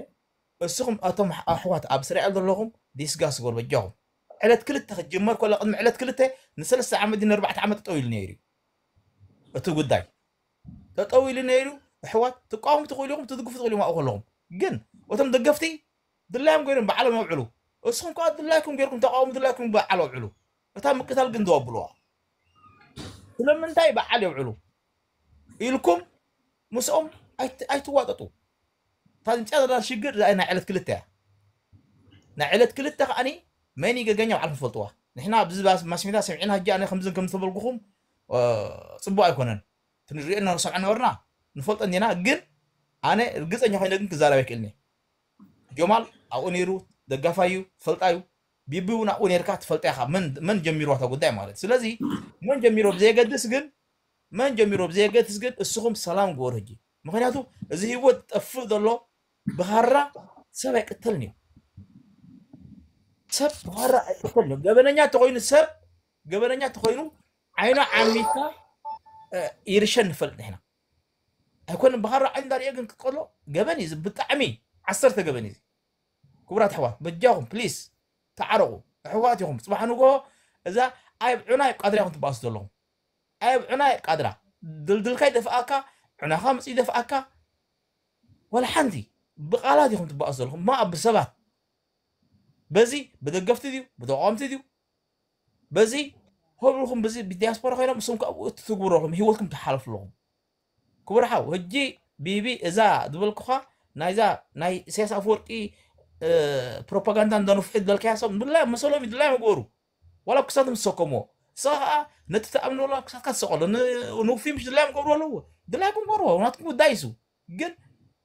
እስኹም ኣቶም ኣሕዋት ኣብ እስራኤል ዘለኹም ዲስጋስ ጎል በጃኹም ዕለት ክልተ ክትጅመር ኮላ ቅድሚ ዕለት ክልተ ንሰለስተ ዓመት ድን ኣርባዕተ ዓመት ጠጠው ኢሉ ነይሩ እዩ እቲ ጉዳይ ጠጠው ኢሉ ነይሩ ኣሕዋት ትቃወሙ ትኽእሉ ኢኹም ትድግፉ ትኽእሉ ኢኹም ኣብኡ ከለኹም ግን እቶም ደገፍቲ ድላዮም ገይሮም ባዕሎም የውዕሉ እስኹም ከዓ ድላይኩም ገይርኩም ተቃወሙ ድላይኩም በዓል ኣውዕሉ እታ ምቅታል ግን ደው ኣብልዋ ስለምንታይ በዓል የውዕሉ ኢልኩም ምስኦም ኣይትዋጠጡ እታ ዝምፅያ ዘላ ሽግር ናይ ዕለት ክልተ እያ ናይ ዕለት ክልተ ከዓኒ መን ይገገኛ ባዕልኩም ትፈልጥዋ ንሕና ኣብዚ ማስሜዳ ሰሚዕና ሕጂ ኣነ ከምዝን ከም ዝተበልኩኹም ፅቡቅ ኣይኮነን ትንሪኦ እና ንሰምዖ ነበርና ንፈልጦ እንዲና ግን ኣነ ርግፀኛ ኮይነ ግን ክዛረብ ኣይክእልኒ ጆማል ኣብኡ ነይሩ ደጋፋይ እዩ ትፈልጣ እዩ ቢቢ እውን ኣብኡ ነርካ ትፈልጣ ኢኻ መን ጀሚርዋ እታ ጉዳይ ማለት ስለዚ መን ጀሚሮ ብዘየገድስ ግን መን ጀሚሮ ብዘየገድስ ግን እስኹም ሰላም ግበሩ ሕጂ ምክንያቱ እዚ ህይወት ጠፍእ ዘሎ ብኻራ ሰብ ኣይቅተልን እዩ ሰብ ብኻራ ኣይቅተልን እዩ ገበነኛ ተኮይኑ ሰብ ገበነኛ ተኮይኑ ዓይኑ ዓሚታ ይርሸን ንፈልጥ ንሕና ኣይኮነ ብኻራ ዓይን ዳርየ ግን ክትቀሎ ገበን እዩ ብጣዕሚ ዓሰርተ ገበን እዩ ክቡራት ኣሕዋት በጃኹም ፕሊስ ተዓረቑ ኣሕዋት ኢኹም ፅባሕ ንጎ እዛ ኣይብ ዑና ይብ ቃድራ ኢኹም ትበኣሱ ዘለኹም ኣይብ ዑና ይብ ቃድራ ድልድልካ ይደፍኣካ ዑናኻ ምፅ ይደፍኣካ ወላ ሓንቲ ብቃላት ኢኹም ትበኣሱ ዘለኹም ማ ብሰባት በዚ ብደገፍቲ ድዩ ብተቃወምቲ ድዩ በዚ ሆብልኩም በዚ ብዲያስፖራ ኮይኖም እሱም ካብኡ ትትግብሩ ኣለኹም ህይወትኩም ትሓለፉ ኣለኹም ክቡር ሓው ሕጂ ቢቢ እዛ ዝበልኩኻ ናይዛ ናይ ኢሳያስ ኣፈወርቂ ፕሮፓጋንዳ እንዳነፍሑ ዝበልካያ ሰብ ድላይ መሰሎም ድላይ መግበሩ ዋላ ክሳት ምስ ሰከምዎ፣ ንስኻ ከዓ ነቲ ትኣምኖ ዘለኻ ክሳትካ ትሰቐሎ። ንውፊ ምሽ ድላዮም ክገብሩ ኣለዎ፣ ድላይኩም ክገብርዎ፣ ናትኩም ጉዳይ እሱ። ግን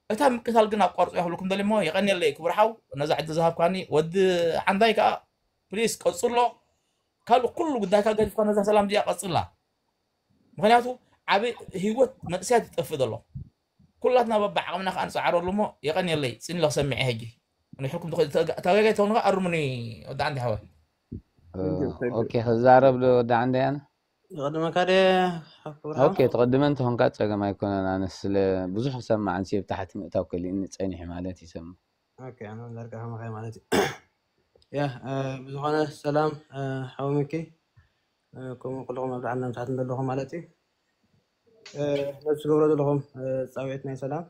እታ ምቅታል ግን ኣቋርጾ ይኽብልኩም ደሊ እሞ፣ የቐንየለይ ክቡር ሓው ነዛ ዕድል ዝሃብካኒ። ወዲ ሓንዳይ ከዓ ፕሊስ ቀጽሎ። ካልእ ኩሉ ጉዳይካ ገዲፍካ ነዛ ሰላም እዚኣ ቀጽላ። ምክንያቱ ዓብ ህይወት መንእሰያት ይጠፍእ ዘሎ። ኩላትና በብዓቕምና ከዓ ንፅዓረሉ እሞ፣ የቐንየለይ። ፅን ኢለ ክሰምዐ ሕጂ ንሕልኩም ተጋጋይ ተኾኑ ከዓ ኣርሙኒ። ወዲ ዓንዲ ሓወይ። ኦኬ፣ ክዛረብ ዶ ወዲ ዓንዲ ኣነ? ይቐድመካ ደ? ኦኬ፣ ትቐድመ እንተኾንካ ፀገም ኣይኮነን። ኣነ ስለ ብዙሕ ክሰማዕ ንሲ ብታሕቲ ምእታው ከሊእኒ ፀኒሑ ማለት ይሰምዕ። ኦኬ፣ ኣነ ዳርጋ ከማኻ ማለት እዩ። ያ ብዝኾነ ሰላም ሓወምኪ፣ ከምኡ ኩልኹም ኣብ ላዕልን ታሕትን ዘለኹም ማለት እዩ። ነዚ ትገብሮ ዘለኹም ፃውዒት ናይ ሰላም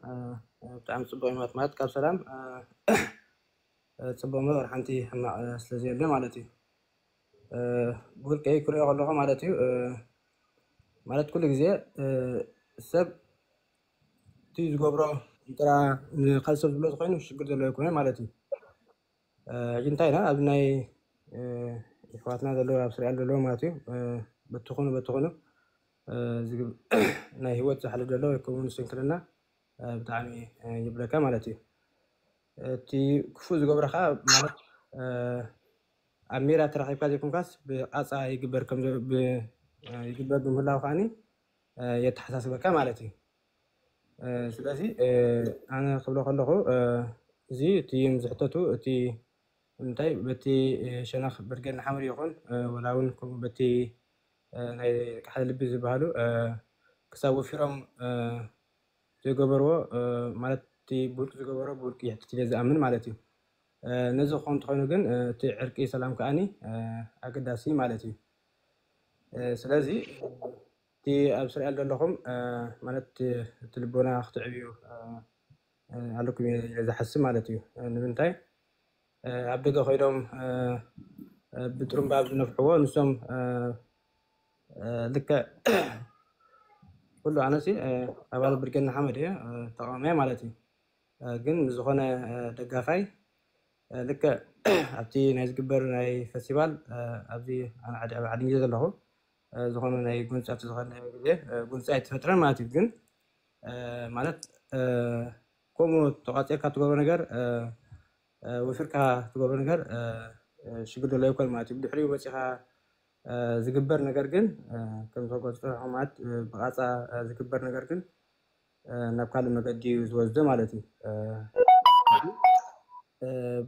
ብጣዕሚ ፅቡቅ እዩ ማለት፣ ማለት ካብ ሰላም ፅቡቅ እምበር ሓንቲ ሕማቅ ስለዘየለ ማለት እዩ። ብውልቀይ ክሪኦ ከለኹ ማለት እዩ፣ ማለት ኩሉ ግዜ ሰብ እቲ ዝገብሮ ጥራ ንካልእ ሰብ ዝብሎ ተኮይኑ ሽግር ዘለዎ ኣይኮነ ማለት እዩ። ሕጂ እንታይ ኢና ኣብ ናይ ኣሕዋትና ዘለዉ ኣብ እስራኤል ዘለዉ ማለት እዩ፣ በትኹኑ በትኹኑ ናይ ህይወት ዝሓልፍ ዘሎ ወይ ከምኡ ስንክልና ብጣዕሚ ይብለካ ማለት እዩ። እቲ ክፉእ ዝገብሮ ከዓ ማለት ኣብ ሜዳ ተራኺብካ ዘይኮንካስ ብቃፃ ይግበር ከም ይግበር ብምህላው ከዓኒ የተሓሳስበካ ማለት እዩ። ስለዚ ኣነ ክብሎ ከለኹ እዚ እቲ ዝሕተቱ እቲ እንታይ በቲ ሸነኽ ብርጌድ ንሓመዱ ይኹን ወላ እውን ከምኡ በቲ ናይ ቃሕለ ልቢ ዝበሃሉ ክሳብ ወፊሮም ዝገበርዎ ማለት እቲ ብውልቂ ዝገበሮ ብውልቂ ይሕትት ኢለ ዝኣምን ማለት እዩ። ነዚ ክኸውን እንተኾይኑ ግን እቲ ዕርቂ ሰላም ከዓኒ ኣገዳሲ ማለት እዩ። ስለዚ እቲ ኣብ እስራኤል ዘለኹም ማለት እቲ ልቦና ክትዕብዩ ኣለኩም ኢለ ዝሓስብ ማለት እዩ። ንምንታይ ኣብ ደገ ኮይኖም ብጥሩምባ ኣብ ዝነፍሕዎ ንሶም ልክዕ ኩሉ ኣነሲ ኣባል ብርጌድ ንሓመዱ እየ፣ ተቃዋማይ ማለት እዩ። ግን ዝኾነ ደጋፋይ ልክዕ ኣብቲ ናይ ዝግበር ናይ ፈስቲቫል ኣብዚ ኣነ ዓዲ ዓዲ ግዜ ዘለኹ ዝኾነ ናይ ጉንፂ ኣብቲ ዝኾነ ግዜ ጉንፂ ኣይትፈጥረን ማለት እዩ። ግን ማለት ከምኡ ተቋፂርካ ትገብሮ ነገር ወፊርካ ትገብሮ ነገር ሽግር ዘሎ ይኮን ማለት እዩ። ብድሕሪኡ መፂኻ ዝግበር ነገር ግን ከም ተቆፅሮ ማለት ብቃፃ ዝግበር ነገር ግን ናብ ካልእ መገዲ እዩ ዝወስዶ ማለት እዩ።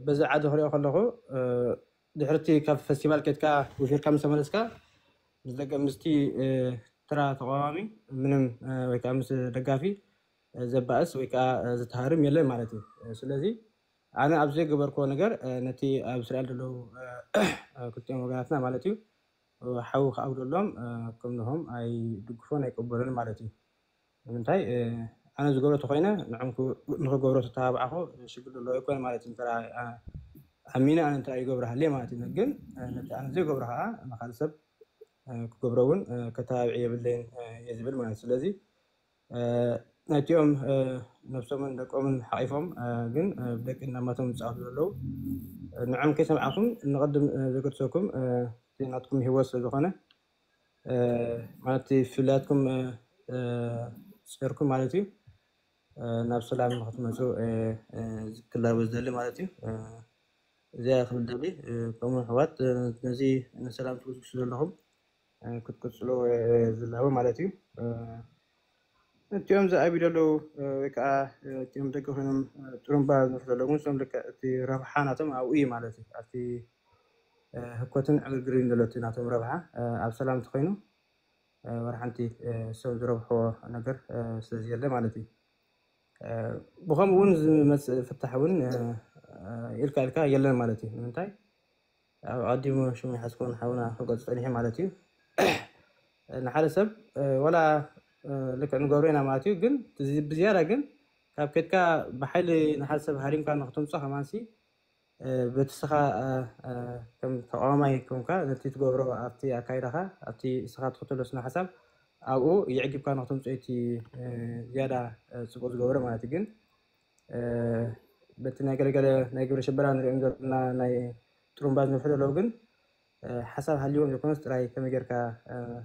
በዚ ዓዲ ክሪኦ ከለኹ ድሕርቲ ካብ ፈስቲቫል ኬድካ ውፊርካ ምስ ተመለስካ ምስ ደገ ምስቲ ትራ ተቃዋሚ ምንም ወይ ከዓ ምስ ደጋፊ ዘባእስ ወይ ከዓ ዝተሃርም የለን ማለት እዩ። ስለዚ ኣነ ኣብ ዘይገበርክዎ ነገር ነቲ ኣብ እስራኤል ዘለዉ ክልቲኦም ወገናትና ማለት እዩ ሓዊ ክኣጉደሎም ከምንሆም ኣይድግፎን ኣይቀበሎን ማለት እዩ። ንምንታይ ኣነ ዝገብሮ ተኮይነ ንዕም ንክገብሮ ተተባብዓኹ ሽግር ዘለዎ ኣይኮነ ማለት እዩ። እንተ ኣሚነ ኣነ እንተ ይገብረሃለየ ማለት እዩ። ግን ነቲ ኣነ ዘይገብሮ ከዓ ንካልእ ሰብ ክገብሮ እውን ከተባብዒ የብለይን እየ ዝብል ማለት እዩ። ስለዚ ናይቲኦም ነብሶምን ደቆምን ሓቂፎም ግን ብደቂ እናማቶም ዝፃወቱ ዘለዉ ንዕም ከይሰምዓኩም ንቐድም ዘገድሰኩም ናትኩም ህይወት ስለዝኮነ ማለት ፍላትኩም ፅርኩም ማለት እዩ ናብ ሰላም ንክትመፁ ክላበ ዝደሊ ማለት እዩ። እዚኣ ክብል ደሊ ከምኡ ኣሕዋት ነዚ ንሰላም ትጉስጉሱ ዘለኹም ክትቅፅሉ ዝላበ ማለት እዩ። እቲኦም ዝኣቢ ዘለዉ ወይ ከዓ እቲኦም ደቂ ኮይኖም ጥሩምባ ዝነፍሑ ዘለዉ ንሶም ልክዕ እቲ ረብሓ ናቶም ኣብኡ እዩ ማለት እዩ። ኣብቲ ህኮትን ዕግርግርን ዘሎ እቲ ናቶም ረብሓ ኣብ ሰላም እንተኮይኑ ወላ ሓንቲ ሰብ ዝረብሖ ነገር ስለዘየለ ማለት እዩ። ብከምኡ እውን ዝመፅእ ፍታሕ እውን ኢልካ ኢልካ የለን ማለት እዩ። ንምንታይ ኣብ ኣቐዲሙ ሽሙ ይሓዝኮን ሓውና ክገልፅ ፀኒሑ ማለት እዩ። ንሓደ ሰብ ወላ ልክዕ ንገብሮ ኢና ማለት እዩ። ግን ብዝያዳ ግን ካብ ከድካ ብሓይሊ ንሓደ ሰብ ሃሪምካ ንክትምፆ ከማንሲ በቲ ስኻ ከም ተቃዋማይ ኮንካ ነቲ ትገብሮ ኣብቲ ኣካይዳኻ ኣብቲ ስኻ ትኽተሎ ስነ ሓሳብ ኣብኡ የዕጊብካ ንክትምፅኦ እቲ ዝያዳ ፅቡቅ ዝገብሮ ማለት እዩ። ግን በቲ ናይ ገለገለ ናይ ግብረ ሽበራ ንሪኦም ዘለና ናይ ጥሩምባ ዝነፍሑ ዘለዉ ግን ሓሳብ ሃልዎም ዘይኮነስ ጥራይ ከመይ ጌርካ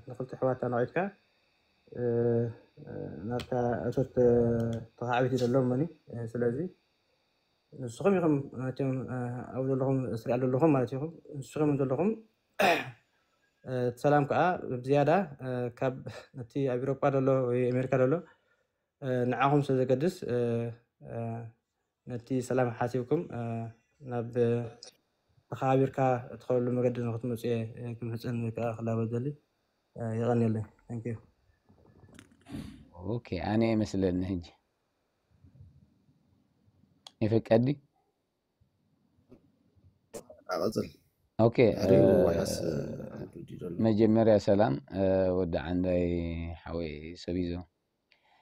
ንክልተ ኣሕዋት ኣነቂፍካ ናብታ እቶት ተኻዕቢት እዩ ዘለዎም መኒ። ስለዚ ንስኹም ኢኹም ናትዮም ኣብኡ ዘለኹም ስሪኣ ዘለኹም ማለት ኢኹም። ንስኹም ዘለኹም እቲ ሰላም ከዓ ብዝያዳ ካብ ነቲ ኣብ ኤውሮጳ ዘሎ ወይ ኣሜሪካ ዘሎ ንዓኹም ስለ ዘገድስ ነቲ ሰላም ሓሲብኩም ናብ ተኸባቢርካ እትኸብሉ መገዲ ንክትመፁ እየ ክምሕፀን ወይ ከዓ ክላበ ዘሊ። የቐንየለይ። Thank you። ኦኬ፣ ኣነ ይመስለኒ ሕጂ ይፍቀዲ። ኣቐፅል። ኦኬ፣ መጀመርያ ሰላም ወዲ ዓንዳይ ሓወይ ሰብ ይዞ።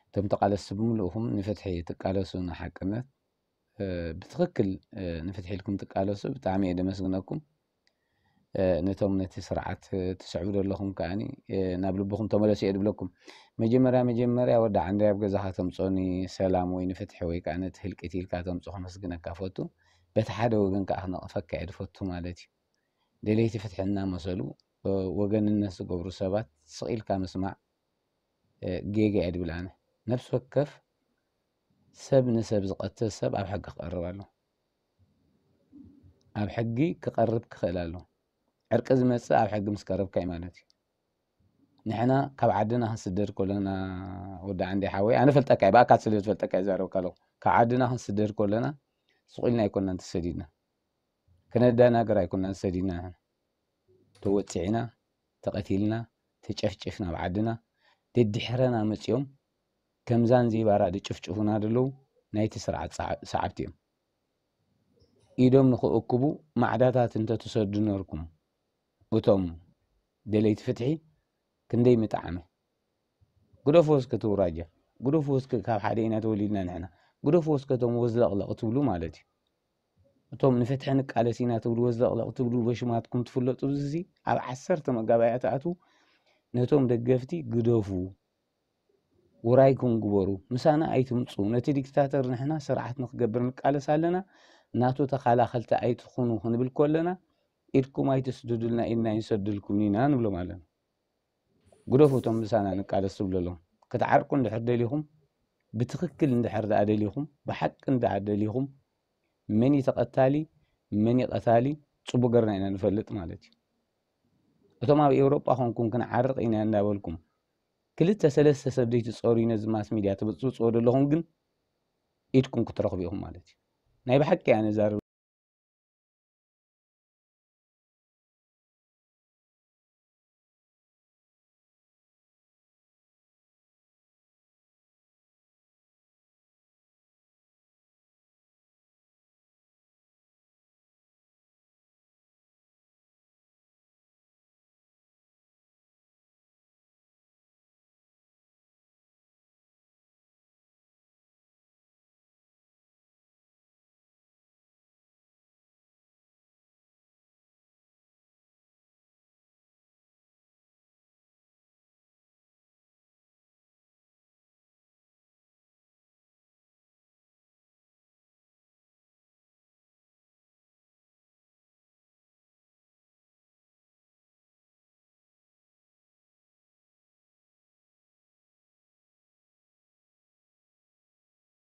እቶም ተቃለስቲ ብምልእኹም ንፍትሒ ትቃለሱ፣ ንሓቅነት ብትኽክል ንፍትሒ ኢልኩም ትቃለሱ። ብጣዕሚ እየ ደመስግነኩም። ነቶም ነቲ ስርዓት ትስዕቡ ዘለኹም ከዓኒ ናብ ልብኹም ተመለሱ እየ ድብለኩም። መጀመርያ መጀመርያ ወዲ ዓንዳይ ኣብ ገዛኻ ተምፅኦኒ ሰላም ወይ ንፍትሒ ወይ ከዓ ነቲ ህልቂት ኢልካ ተምፅኦ ከመስግነካ ፈቱ። በቲ ሓደ ወገን ከዓ ክነቕፈካ እየ ድፈቱ ማለት እዩ። ደለይቲ ፍትሒ እናመሰሉ ወገንነት ዝገብሩ ሰባት ስቕ ኢልካ ምስማዕ ጌጋ እየ ድብል ኣነ። ነፍሲ ወከፍ ሰብ ንሰብ ዝቐትል ሰብ ኣብ ሕጊ ክቐርብ ኣሎ። ኣብ ሕጊ ክቐርብ ክኽእል ኣሎ። ዕርቂ ዝመፅእ ኣብ ሕጊ ምስ ቀረብካ እዩ ማለት እዩ። ንሕና ካብ ዓድና ክንስደድ ከለና ወዲ ዓንዳይ ሓወይ፣ ኣነ ፈልጠካ እየ፣ ብኣካል ስለ ዝፈልጠካ እየ ዝዛረበካ ኣለኹ። ካብ ዓድና ክንስደድ ከለና ስቕ ኢልና ኣይኮንናን ተሰዲድና። ክነደናግር ኣይኮንናን ተሰዲድና። ንሕና ተወፂዕና፣ ተቐቲልና፣ ተጨፍጭፍና ኣብ ዓድና፣ ደድሕረና መፂኦም ከምዛን ዘይባራ ድጭፍጭፉና ደለዉ ናይቲ ስርዓት ሰዓብቲ እዮም። ኢዶም ንኽእክቡ ማዕዳታት እንተትሰዱ ነርኩም፣ እቶም ደለይቲ ፍትሒ ክንደይ ምጠዓመ። ግደፎ እስከ እቲ ውራጃ፣ ግደፎ እስከ ካብ ሓደ ኢና ተወሊድና ንሕና፣ ግደፎ እስከ እቶም ወዝለቕለቕ ትብሉ ማለት እዩ። እቶም ንፍትሒ ንቃለስ ኢና ትብሉ ወዝለቕለቕ ትብሉ በሽማትኩም ትፍለጡ። እዚ ኣብ ዓሰርተ መጋባእያ ትኣትዉ ነቶም ደገፍቲ ግደፉ፣ ውራይኩም ግበሩ፣ ምሳና ኣይትምፁ። ነቲ ዲክታተር ንሕና ስርዓት ንክገብር ንቃለስ ኣለና፣ ናቱ ተኻላኸልቲ ኣይትኹኑ ክንብል ከለና ኢድኩም ኣይትስድዱልና ኢድና ኣይንሰድልኩም ኢና ንብሎም ኣለና። ግደፉ እቶም ምሳና ንቃለስ ትብሉ ኣለኹም። ክትዓርቁ እንድሕር ደሊኹም፣ ብትኽክል እንድሕር ደኣ ደሊኹም፣ ብሓቂ እንድኣ ደሊኹም፣ መን እዩ ተቐታሊ መን እዩ ቀታሊ ፅቡቅ ገርና ኢና ንፈልጥ ማለት እዩ። እቶም ኣብ ኤውሮጳ ኮንኩም ክንዓርቕ ኢና እንዳበልኩም ክልተ ሰለስተ ሰብ ዘይትፀሩ ነዚ ማስ ሚድያ ትብፅብፅዎ ዘለኹም ግን ኢድኩም ክትረኽቡ ኢኹም ማለት እዩ። ናይ ብሓቂ እያ ነዛርብ